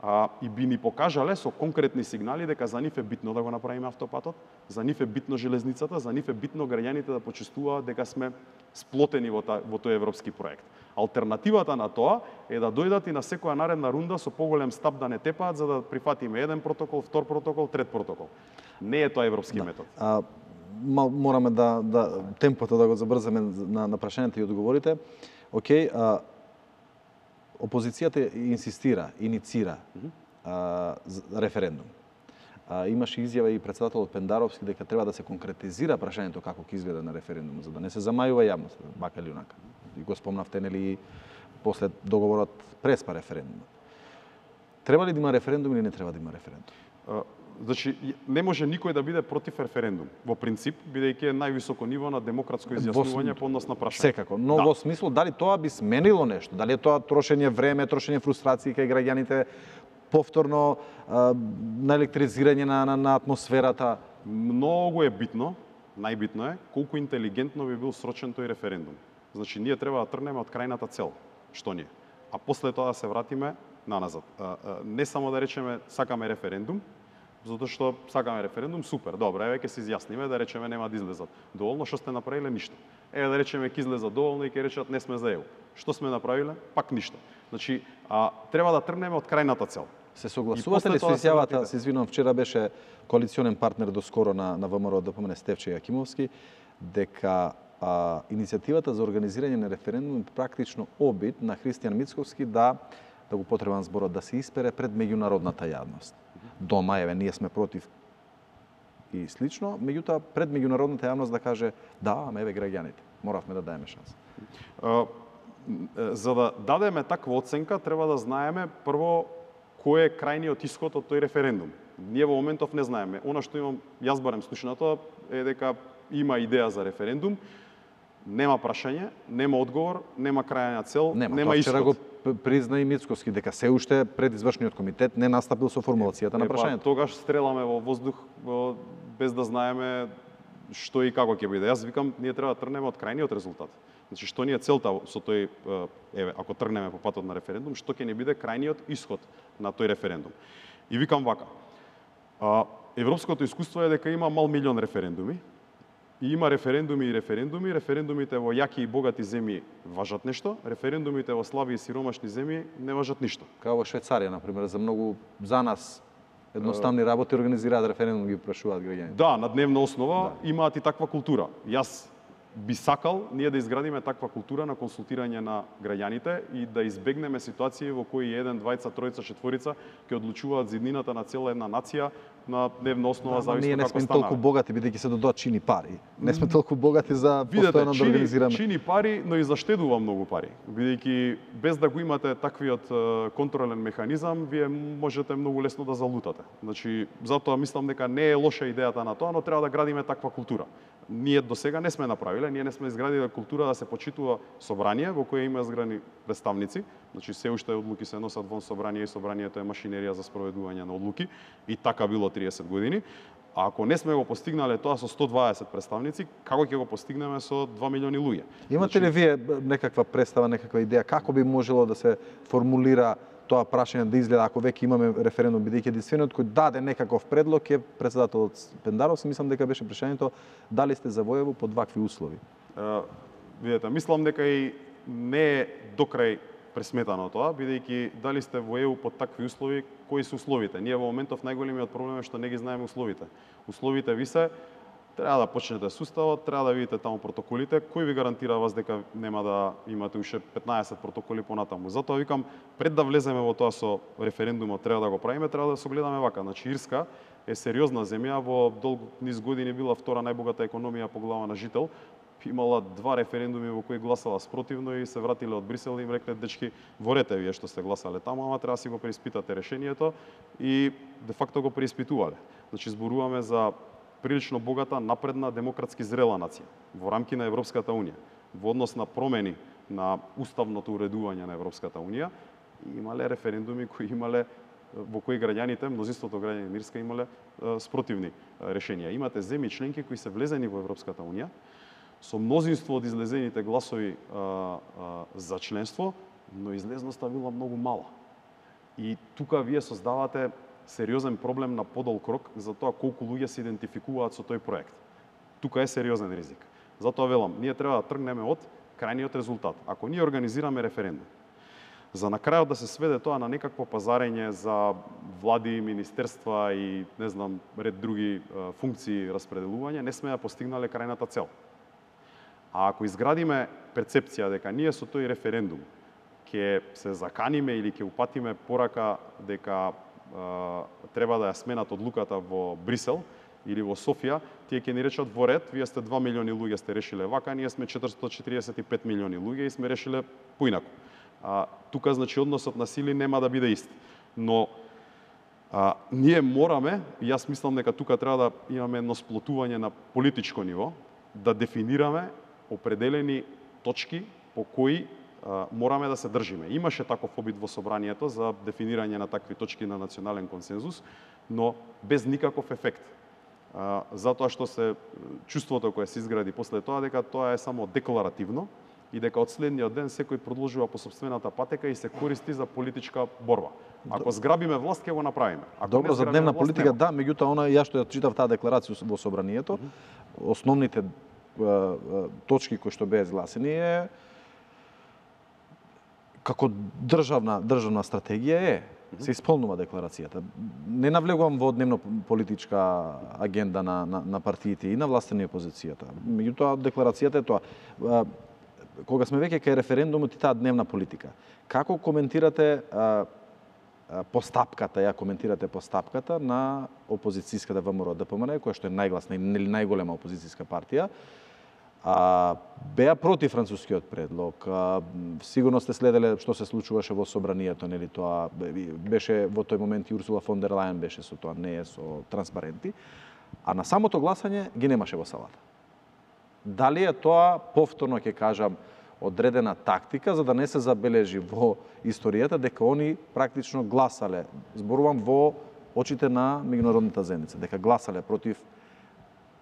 а, и би ни покажале со конкретни сигнали дека за нив е битно да го направиме автопатот, за нив е битно железницата, за нив е битно граѓаните да почувствуваат дека сме сплотени во, та, во тој европски проект. Алтернативата на тоа е да дојдат и на секоја наредна рунда со поголем стап да не тепаат за да прифатиме еден протокол, втор протокол, трет протокол. Не е тоа европски да. метод. А, мораме да, да темпото да го забрзаме на, на прашањата и одговорите. Океј, а, опозицијата инсистира, иницира mm -hmm. а, референдум. А, имаше изјава и председателот Пендаровски дека треба да се конкретизира прашањето како ќе изгледа на референдум, за да не се замајува јавноста, бака или унака. И го спомнавте, нели, после договорот преспа референдумот. Треба ли да има референдум или не треба да има референдум? Значи, не може никој да биде против референдум. Во принцип, бидејќи е највисоко ниво на демократско изјаснување по однос на прашање. Секако, но да. во смисло дали тоа би сменило нешто? Дали е тоа трошење време, трошење фрустрации кај граѓаните, повторно а, на електризирање на, на, на атмосферата? Многу е битно, најбитно е, колку интелигентно би бил срочен тој референдум. Значи, ние треба да тргнеме од крајната цел, што ни е. А после тоа да се вратиме наназад. А, а, не само да речеме сакаме референдум, затоа што сакаме референдум, супер, добро, еве ќе се изјасниме, да речеме нема да излезат. Доволно, што сте направиле? Ништо. Еве да речеме ќе излезат доволно и ќе речат не сме за ЕУ. Што сме направиле? Пак ништо. Значи, а, треба да тргнеме од крајната цел. Се согласувате ли со изјавата, се извинувам, вчера беше коалиционен партнер доскоро на, на ВМРО да помене Стефче Јакимовски, дека а, иницијативата за организирање на референдум е практично обид на Христијан Мицковски да да го потребам зборот, да се испере пред меѓународната јавност. Дома, еве, ние сме против и слично, меѓутоа пред меѓународната јавност да каже да, ама еве граѓаните, моравме да даеме шанса. Uh, за да дадеме таква оценка, треба да знаеме прво кој е крајниот исход од тој референдум. Ние во моментов не знаеме. Она што имам, јас барем слушнато, е дека има идеја за референдум, нема прашање, нема одговор, нема крајна цел, нема, нема исход. Вчера го призна и Мицковски дека се уште пред извршниот комитет не настапил со формулацијата на прашањето. Тогаш стреламе во воздух без да знаеме што и како ќе биде. Јас викам, ние треба да тргнеме од крајниот резултат. Значи, што ни е целта со тој, еве, ако тргнеме по патот на референдум, што ќе ни биде крајниот исход на тој референдум. И викам вака, европското искуство е дека има мал милион референдуми, и има референдуми и референдуми, референдумите во јаки и богати земји важат нешто, референдумите во слаби и сиромашни земји не важат ништо. Као во Швајцарија, например, за многу за нас едноставни работи организираат референдум, ги прашуваат граѓаните. Да, на дневна основа да. Имаат и таква култура. Јас би сакал ние да изградиме таква култура на консултирање на граѓаните и да избегнеме ситуации во кои еден, двајца, тројца, четворица ќе одлучуваат зиднината на цела една нација на дневна основа, да, зависно ние не како сме станаме. толку богати, бидејќи се додоа чини пари. Не сме толку богати за постојано да организираме. Чини пари, но и заштедува многу пари. Бидејќи без да го имате таквиот контролен механизам, вие можете многу лесно да залутате. Значи, затоа мислам дека не е лоша идејата на тоа, но треба да градиме таква култура. Ние до сега не сме направиле, ние не сме изградиле култура да се почитува собрание во кое има зграни представници. Значи, се уште одлуки се носат вон собрание и собранието е машинерија за спроведување на одлуки и така било триесет години. А ако не сме го постигнале тоа со сто дваесет представници, како ќе го постигнеме со два милиони луѓе? Имате ли вие некаква представа, некаква идеја како би можело да се формулира тоа прашање да изгледа ако веќе имаме референдум, бидејќи единствениот кој даде некаков предлог е претседателот Пендаров, мислам дека беше прашањето дали сте за воево под вакви услови? Uh, видете, мислам дека и не е докрај пресметано тоа, бидејќи дали сте во ЕУ под такви услови, кои се условите? Ние во моментов најголемиот проблем е што не ги знаеме условите. Условите ви се, треба да почнете суставот, треба да видите таму протоколите, кој ви гарантира вас дека нема да имате уште петнаесет протоколи понатаму. Затоа викам, пред да влеземе во тоа со референдумот, треба да го правиме, треба да се огледаме вака. Значи, Ирска е сериозна земја, во долг низ години била втора најбогата економија по глава на жител, имала два референдуми во кои гласала спротивно и се вратиле од Брисел и им рекле дечки, ворете вие што сте гласале таму, ама треба да си го преиспитате решението и де факто го преиспитувале. Значи зборуваме за прилично богата, напредна, демократски зрела нација во рамки на Европската унија. Во однос на промени на уставното уредување на Европската унија, имале референдуми кои имале во кои граѓаните, мнозинството граѓани на Ирска имале спротивни решенија. Имате земји членки кои се влезени во Европската унија со мнозинство од излезените гласови а, а, за членство, но излезноста била многу мала. И тука вие создавате сериозен проблем на подолг рок за тоа колку луѓе се идентификуваат со тој проект. Тука е сериозен ризик. Затоа велам, ние треба да тргнеме од крајниот резултат. Ако ние организираме референдум, за на крајот да се сведе тоа на некакво пазарење за влади, министерства и не знам ред други а, функции распределување, не сме ја постигнале крајната цел. А ако изградиме перцепција дека ние со тој референдум ќе се заканиме или ќе упатиме порака дека а, треба да ја сменат одлуката во Брисел или во Софија, тие ќе ни речат во ред, вие сте два милиони луѓе сте решиле вака, ние сме четиристотини четиридесет и пет милиони луѓе и сме решиле поинаку. А, тука значи односот на сили нема да биде ист. Но А, ние мораме, и јас мислам дека тука треба да имаме едно сплотување на политичко ниво, да дефинираме определени точки по кои а, мораме да се држиме. Имаше таков обид во собранието за дефинирање на такви точки на национален консензус, но без никаков ефект. А, затоа што се чувството кое се изгради после тоа дека тоа е само декларативно и дека од следниот ден секој продолжува по сопствената патека и се користи за политичка борба. Ако зграбиме власт, ќе го направиме. Ако Добро, за дневна власт, политика, нема. да, меѓутоа она ја што ја читав таа декларација во собранието, mm -hmm. основните а, точки кои што беа изгласени е како државна државна стратегија е се исполнува декларацијата. Не навлегувам во дневно политичка агенда на, на, на партиите и на власта и опозицијата. Меѓутоа декларацијата е тоа. Кога сме веќе кај референдумот и таа дневна политика, како коментирате а, а, постапката, ја коментирате постапката на опозицијската ВМРО ДПМН, која што е најгласна и најголема опозицијска партија, а, беа против францускиот предлог. А, сигурно сте следеле што се случуваше во собранието, нели тоа беше во тој момент и Урсула фон дер Лајен беше со тоа, не е со транспаренти, а на самото гласање ги немаше во салата. Дали е тоа, повторно ќе кажам, одредена тактика за да не се забележи во историјата дека они практично гласале, зборувам во очите на меѓународната заедница, дека гласале против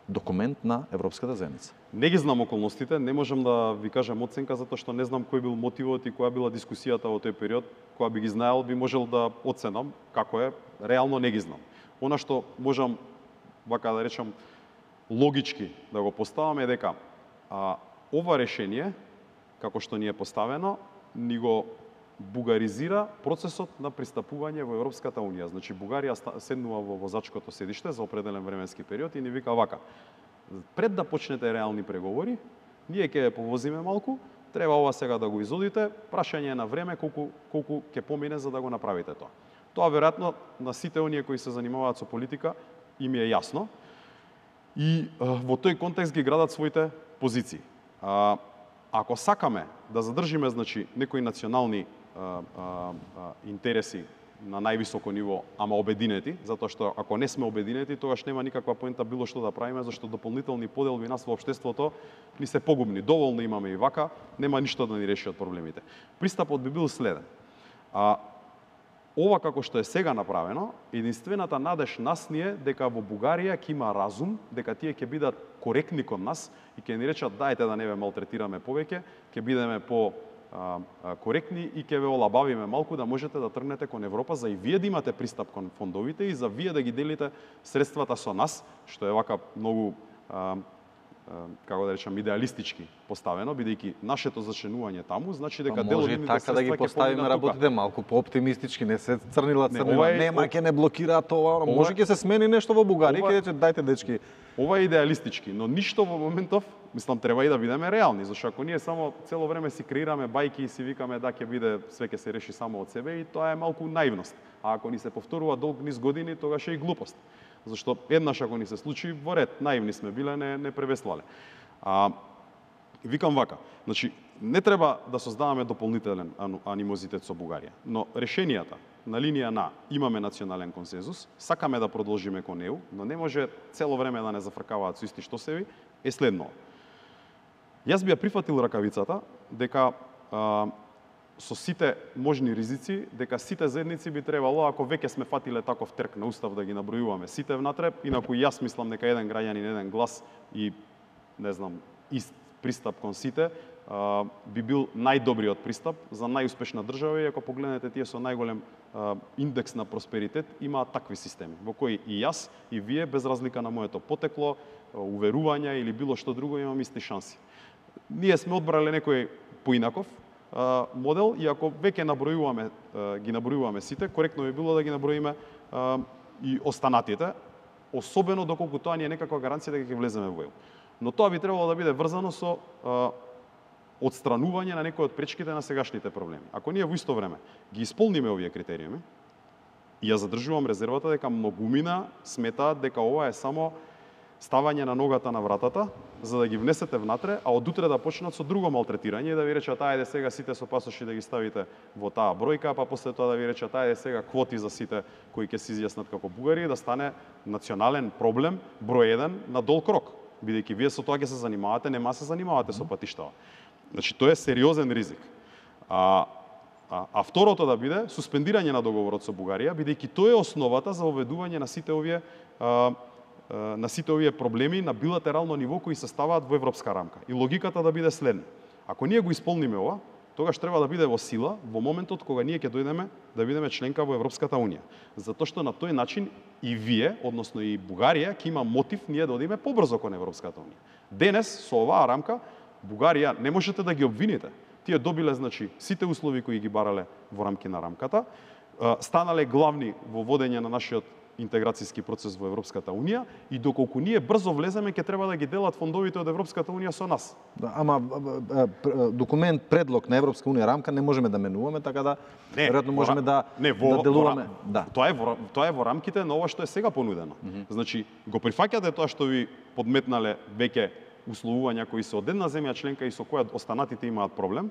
документ на Европската заедница. Не ги знам околностите, не можам да ви кажам оценка затоа што не знам кој бил мотивот и која била дискусијата во тој период. Кога би ги знаел, би можел да оценам како е, реално не ги знам. Она што можам, вака да речам, логички да го поставаме е дека а, ова решение, како што ни е поставено, ни го бугаризира процесот на пристапување во Европската Унија. Значи, Бугарија седнува во возачкото седиште за определен временски период и ни вика вака: пред да почнете реални преговори, ние ќе повозиме малку, треба ова сега да го изодите, прашање на време колку колку ќе помине за да го направите тоа. Тоа веројатно на сите оние кои се занимаваат со политика им е јасно и а, во тој контекст ги градат своите позиции. А, ако сакаме да задржиме, значи, некои национални а, а, а, интереси на највисоко ниво, ама обединети, затоа што ако не сме обединети, тогаш нема никаква поента било што да правиме, зашто дополнителни поделби нас во општеството ни се погубни. Доволно имаме и вака, нема ништо да ни реши од проблемите. Пристапот би бил следен. А, ова како што е сега направено, единствената надеж нас ни е дека во Бугарија ќе има разум, дека тие ќе бидат коректни кон нас и ќе ни речат дајте да не ве малтретираме повеќе, ќе бидеме по а, а, коректни и ќе ве олабавиме малку да можете да тргнете кон Европа, за и вие да имате пристап кон фондовите и за вие да ги делите средствата со нас, што е вака многу а, како да речам, идеалистички поставено, бидејќи нашето зачленување таму значи дека дел од нивните средства ќе поминат тука. Може така да ги поставиме работите малку по-оптимистички, не се црнила црнила. Не, нема ќе не блокираат ова, може ќе се смени нешто во Бугарија, ќе рече дајте дечки. Ова е идеалистички, но ништо во моментов, мислам, треба и да бидеме реални, зашто ако ние само цело време си креираме бајки и си викаме да ќе биде све ќе се реши само од себе, и тоа е малку наивност. А ако ни се повторува долг низ години, тогаш е и глупост. Зашто еднаш ако ни се случи, во ред, наивни сме биле, не, не превеслале. А, викам вака, значи, не треба да создаваме дополнителен анимозитет со Бугарија, но решенијата на линија на имаме национален консензус, сакаме да продолжиме кон ЕУ, но не може цело време да не зафркаваат со исти штосеви, е следно. Јас би ја прифатил ракавицата дека а, со сите можни ризици, дека сите заедници би требало, ако веќе сме фатиле таков трк на устав да ги набројуваме сите внатре, инаку јас мислам дека еден граѓанин, еден глас и, не знам, ист пристап кон сите, а, би бил најдобриот пристап за најуспешна држава, и ако погледнете тие со најголем а, индекс на просперитет, имаат такви системи, во кои и јас, и вие, без разлика на моето потекло, уверувања или било што друго, имам исти шанси. Ние сме одбрале некој поинаков модел, и ако веќе набројуваме, ги набројуваме сите, коректно би било да ги наброиме и останатите, особено доколку тоа ни е некаква гаранција дека ќе влеземе во ЕУ. Но тоа би требало да биде врзано со отстранување на некои од пречките на сегашните проблеми. Ако ние во исто време ги исполниме овие критериуми, и ја задржувам резервата дека многумина сметаат дека ова е само ставање на ногата на вратата за да ги внесете внатре, а од утре да почнат со друго малтретирање и да ви речат ајде сега сите со пасоши да ги ставите во таа бројка, па после тоа да ви речат ајде сега квоти за сите кои ќе се изјаснат како бугари и да стане национален проблем број еден на долг рок, бидејќи вие со тоа ќе се занимавате, нема се занимавате со патиштава. Значи тоа е сериозен ризик. А А, а второто да биде суспендирање на договорот со Бугарија, бидејќи тоа е основата за воведување на сите овие а, а, на сите овие проблеми на билатерално ниво кои се ставаат во европска рамка. И логиката да биде следна. Ако ние го исполниме ова, тогаш треба да биде во сила во моментот кога ние ќе дојдеме да бидеме членка во Европската унија. Затоа што на тој начин и вие, односно и Бугарија, ќе има мотив ние да одиме побрзо кон Европската унија. Денес со оваа рамка Бугарија не можете да ги обвините. Тие добиле, значи, сите услови кои ги барале во рамки на рамката, станале главни во водење на нашиот интеграцијски процес во Европската унија и доколку ние брзо влеземе, ќе треба да ги делат фондовите од Европската унија со нас. Да, ама документ, предлог на Европска унија рамка не можеме да менуваме, така да веројатно можеме да не, во, да делуваме. Во, да. Тоа е во тоа е во рамките на ова што е сега понудено. Mm -hmm. Значи, го прифаќате тоа што ви подметнале веќе условувања кои се од една земја членка и со која останатите имаат проблем,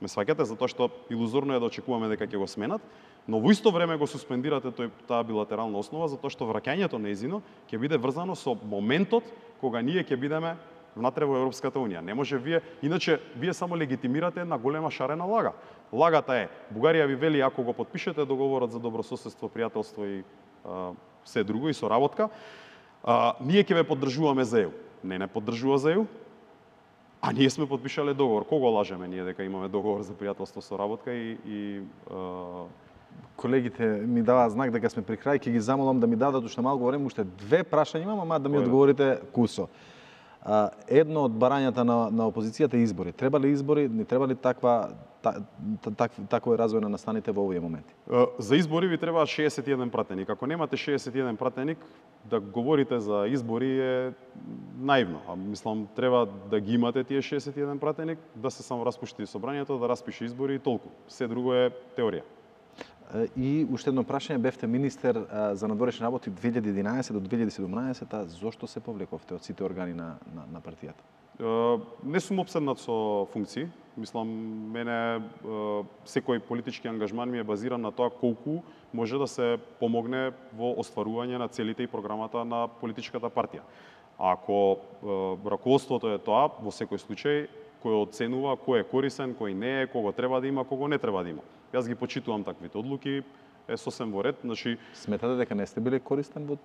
ме сваќате, затоа што илузорно е да очекуваме дека ќе го сменат, но во исто време го суспендирате тој, таа билатерална основа, затоа што враќањето нејзино ќе биде врзано со моментот кога ние ќе бидеме внатре во Европската унија. Не може вие, иначе вие само легитимирате една голема шарена лага. Лагата е, Бугарија ви вели ако го потпишете договорот за добрососедство, пријателство и а, се друго и соработка, а, ние ќе ве поддржуваме за ЕУ. Не не поддржува за ЕУ, а ние сме подпишале договор. Кого лажеме ние дека имаме договор за пријателство со работка и, и а... колегите ми даваат знак дека сме при крај, ќе ги замолам да ми дадат уште малку време, уште две прашања имам, ама да ми одговорите кусо. А, едно од барањата на, на опозицијата е избори. Треба ли избори, не треба ли таква та, так, такој развој на настаните во овие моменти? За избори ви требаат шеесет и еден пратеник. Ако немате шеесет и еден пратеник, да говорите за избори е наивно. А мислам, треба да ги имате тие шеесет и еден пратеник, да се само распушти собранието, да распише избори и толку. Се друго е теорија. И уште едно прашање, бевте министер за надворешни работи две илјади и единаесет до две илјади и седумнаесет, зошто се повлековте од сите органи на, на, на партијата? Не сум обседнат со функции. Мислам, мене секој политички ангажман ми е базиран на тоа колку може да се помогне во остварување на целите и програмата на политичката партија. Ако раководството е тоа, во секој случај, кој оценува кој е корисен, кој не е, кого треба да има, кого не треба да има. Јас ги почитувам таквите одлуки, е сосем во ред. Значи, сметате дека не сте били користен во...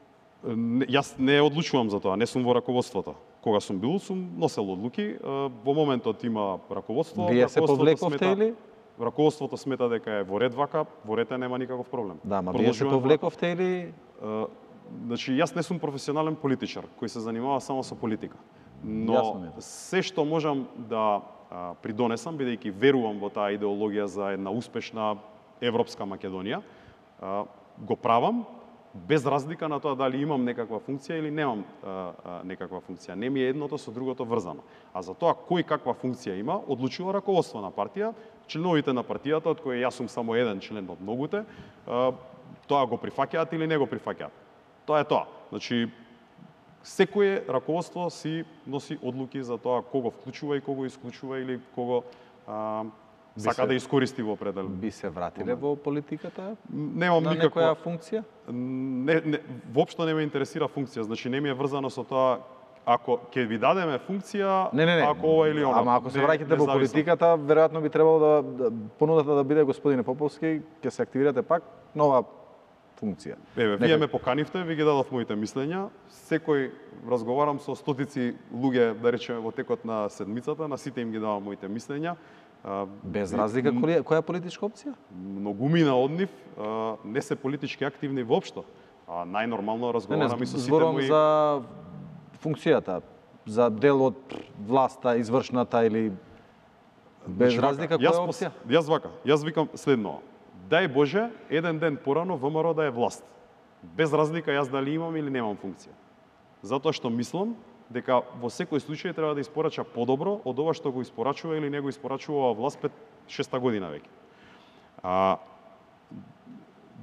Не, јас не одлучувам за тоа, не сум во раководството. Кога сум бил, сум носел одлуки. Во моментот има раководство. Вие се повлековте смета, или? Раководството смета дека е во ред вака, во ред нема никаков проблем. Да, ма вие се повлековте или? Uh, значи, јас не сум професионален политичар, кој се занимава само со политика. Но се што можам да а, придонесам, бидејќи верувам во таа идеологија за една успешна европска Македонија, а, го правам, без разлика на тоа дали имам некаква функција или немам а, а, некаква функција. Не ми е едното со другото врзано. А за тоа кој каква функција има, одлучува раководство на партија, членовите на партијата, од кои јас сум само еден член од многуте, а, тоа го прифаќаат или не го прифаќаат. Тоа е тоа. Значи, секое раководство си носи одлуки за тоа кого вклучува и кого исклучува или кого а, сака се, да искористи во определен. Би се вратиле во политиката? Немам на никаква некоја функција? Не, не, воопшто не ме интересира функција, значи не ми е врзано со тоа ако ќе ви дадеме функција, не, не, не. ако ова или она. Ама ако се враќате во политиката, веројатно би требало да, да понудата да биде господине Поповски, ќе се активирате пак нова функција. Еве, вие ме поканивте, ви ги дадов моите мислења. Секој разговарам со стотици луѓе, да речеме во текот на седмицата, на сите им ги давам моите мислења. Без разлика која, која политичка опција? Многумина од нив не се политички активни воопшто. А најнормално разговарам и со сите мои... за функцијата, за дел од власта, извршната или без разлика која опција? Јас вака, јас викам следно. Дај Боже, еден ден порано ВМРО да е власт. Без разлика јас дали имам или немам функција. Затоа што мислам дека во секој случај треба да испорача подобро од ова што го испорачува или не го испорачува власт пет шеста година веќе. А,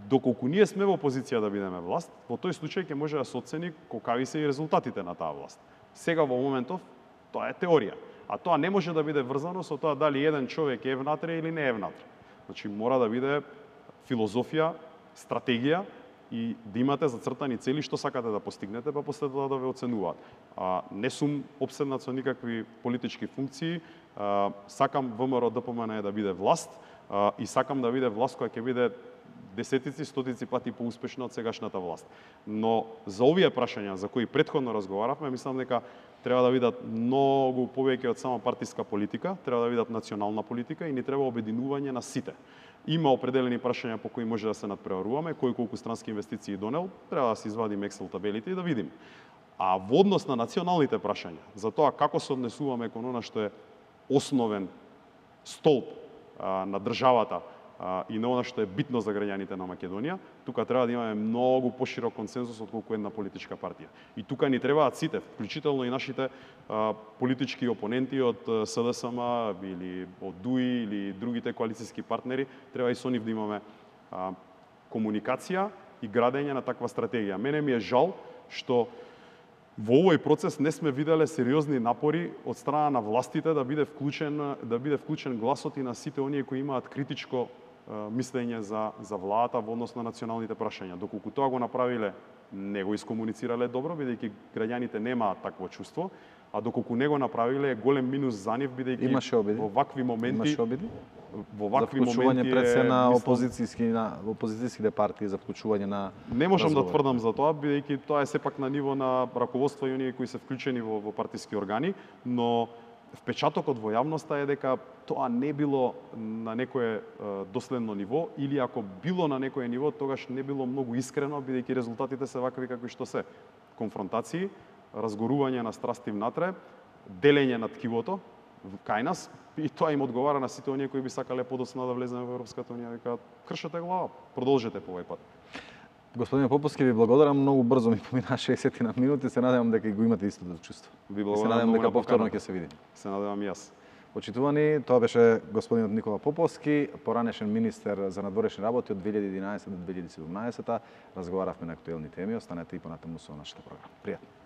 доколку ние сме во позиција да бидеме власт, во тој случај ќе може да се оцени колкави се и резултатите на таа власт. Сега во моментов Тоа е теорија. А тоа не може да биде врзано со тоа дали еден човек е внатре или не е внатре. Значи мора да биде филозофија, стратегија и да имате зацртани цели што сакате да постигнете, па после тоа да ве оценуваат. А, не сум обседнат со никакви политички функции, а, сакам ВМРО ДПМН да биде власт а, и сакам да биде власт која ќе биде десетици, стотици пати поуспешна од сегашната власт. Но за овие прашања за кои претходно разговаравме, мислам дека треба да видат многу повеќе од само партиска политика, треба да видат национална политика и ни треба обединување на сите. Има определени прашања по кои може да се надпреваруваме, кој колку странски инвестиции донел, треба да се извадиме Excel табелите и да видиме. А во однос на националните прашања, за тоа како се однесуваме кон она што е основен столб а, на државата а, и на она што е битно за граѓаните на Македонија, тука треба да имаме многу поширок консензус од колку една политичка партија. И тука ни требаат сите, вклучително и нашите а, политички опоненти од СДСМ или од ДУИ или другите коалициски партнери, треба и со нив да имаме а, комуникација и градење на таква стратегија. Мене ми е жал што во овој процес не сме виделе сериозни напори од страна на властите да биде вклучен да биде вклучен гласот и на сите оние кои имаат критичко мислење за за владата во однос на националните прашања. Доколку тоа го направиле, не го искомуницирале добро, бидејќи граѓаните немаат такво чувство, а доколку не го направиле, е голем минус за нив, бидејќи во вакви моменти Имаше обиди? Во вакви за вклучување моменти пред се на мислам, опозицијски на опозицијските партии за вклучување на не можам разговор. да тврдам за тоа, бидејќи тоа е сепак на ниво на раководство и оние кои се вклучени во, во партиски органи, но впечатокот во јавноста е дека тоа не било на некое е, доследно ниво, или ако било на некое ниво, тогаш не било многу искрено, бидејќи резултатите се вакви какви што се. Конфронтации, разгорување на страсти внатре, делење на ткивото кај нас, и тоа им одговара на сите оние кои би сакале подоцна да влеземе во Европската унија, викаат кршете глава, продолжете по овој пат. Господине Поповски, ви благодарам, многу брзо ми помина шеесет на минути, се надевам дека го имате истото чувство. Ви се надевам дека повторно ќе се видиме. Се надевам и јас. Почитувани, тоа беше господинот Никола Поповски, поранешен министер за надворешни работи од две илјади и единаесета до две илјади и седумнаесета. Разговаравме на актуелни теми, останете и понатаму со нашата програма. Пријатно.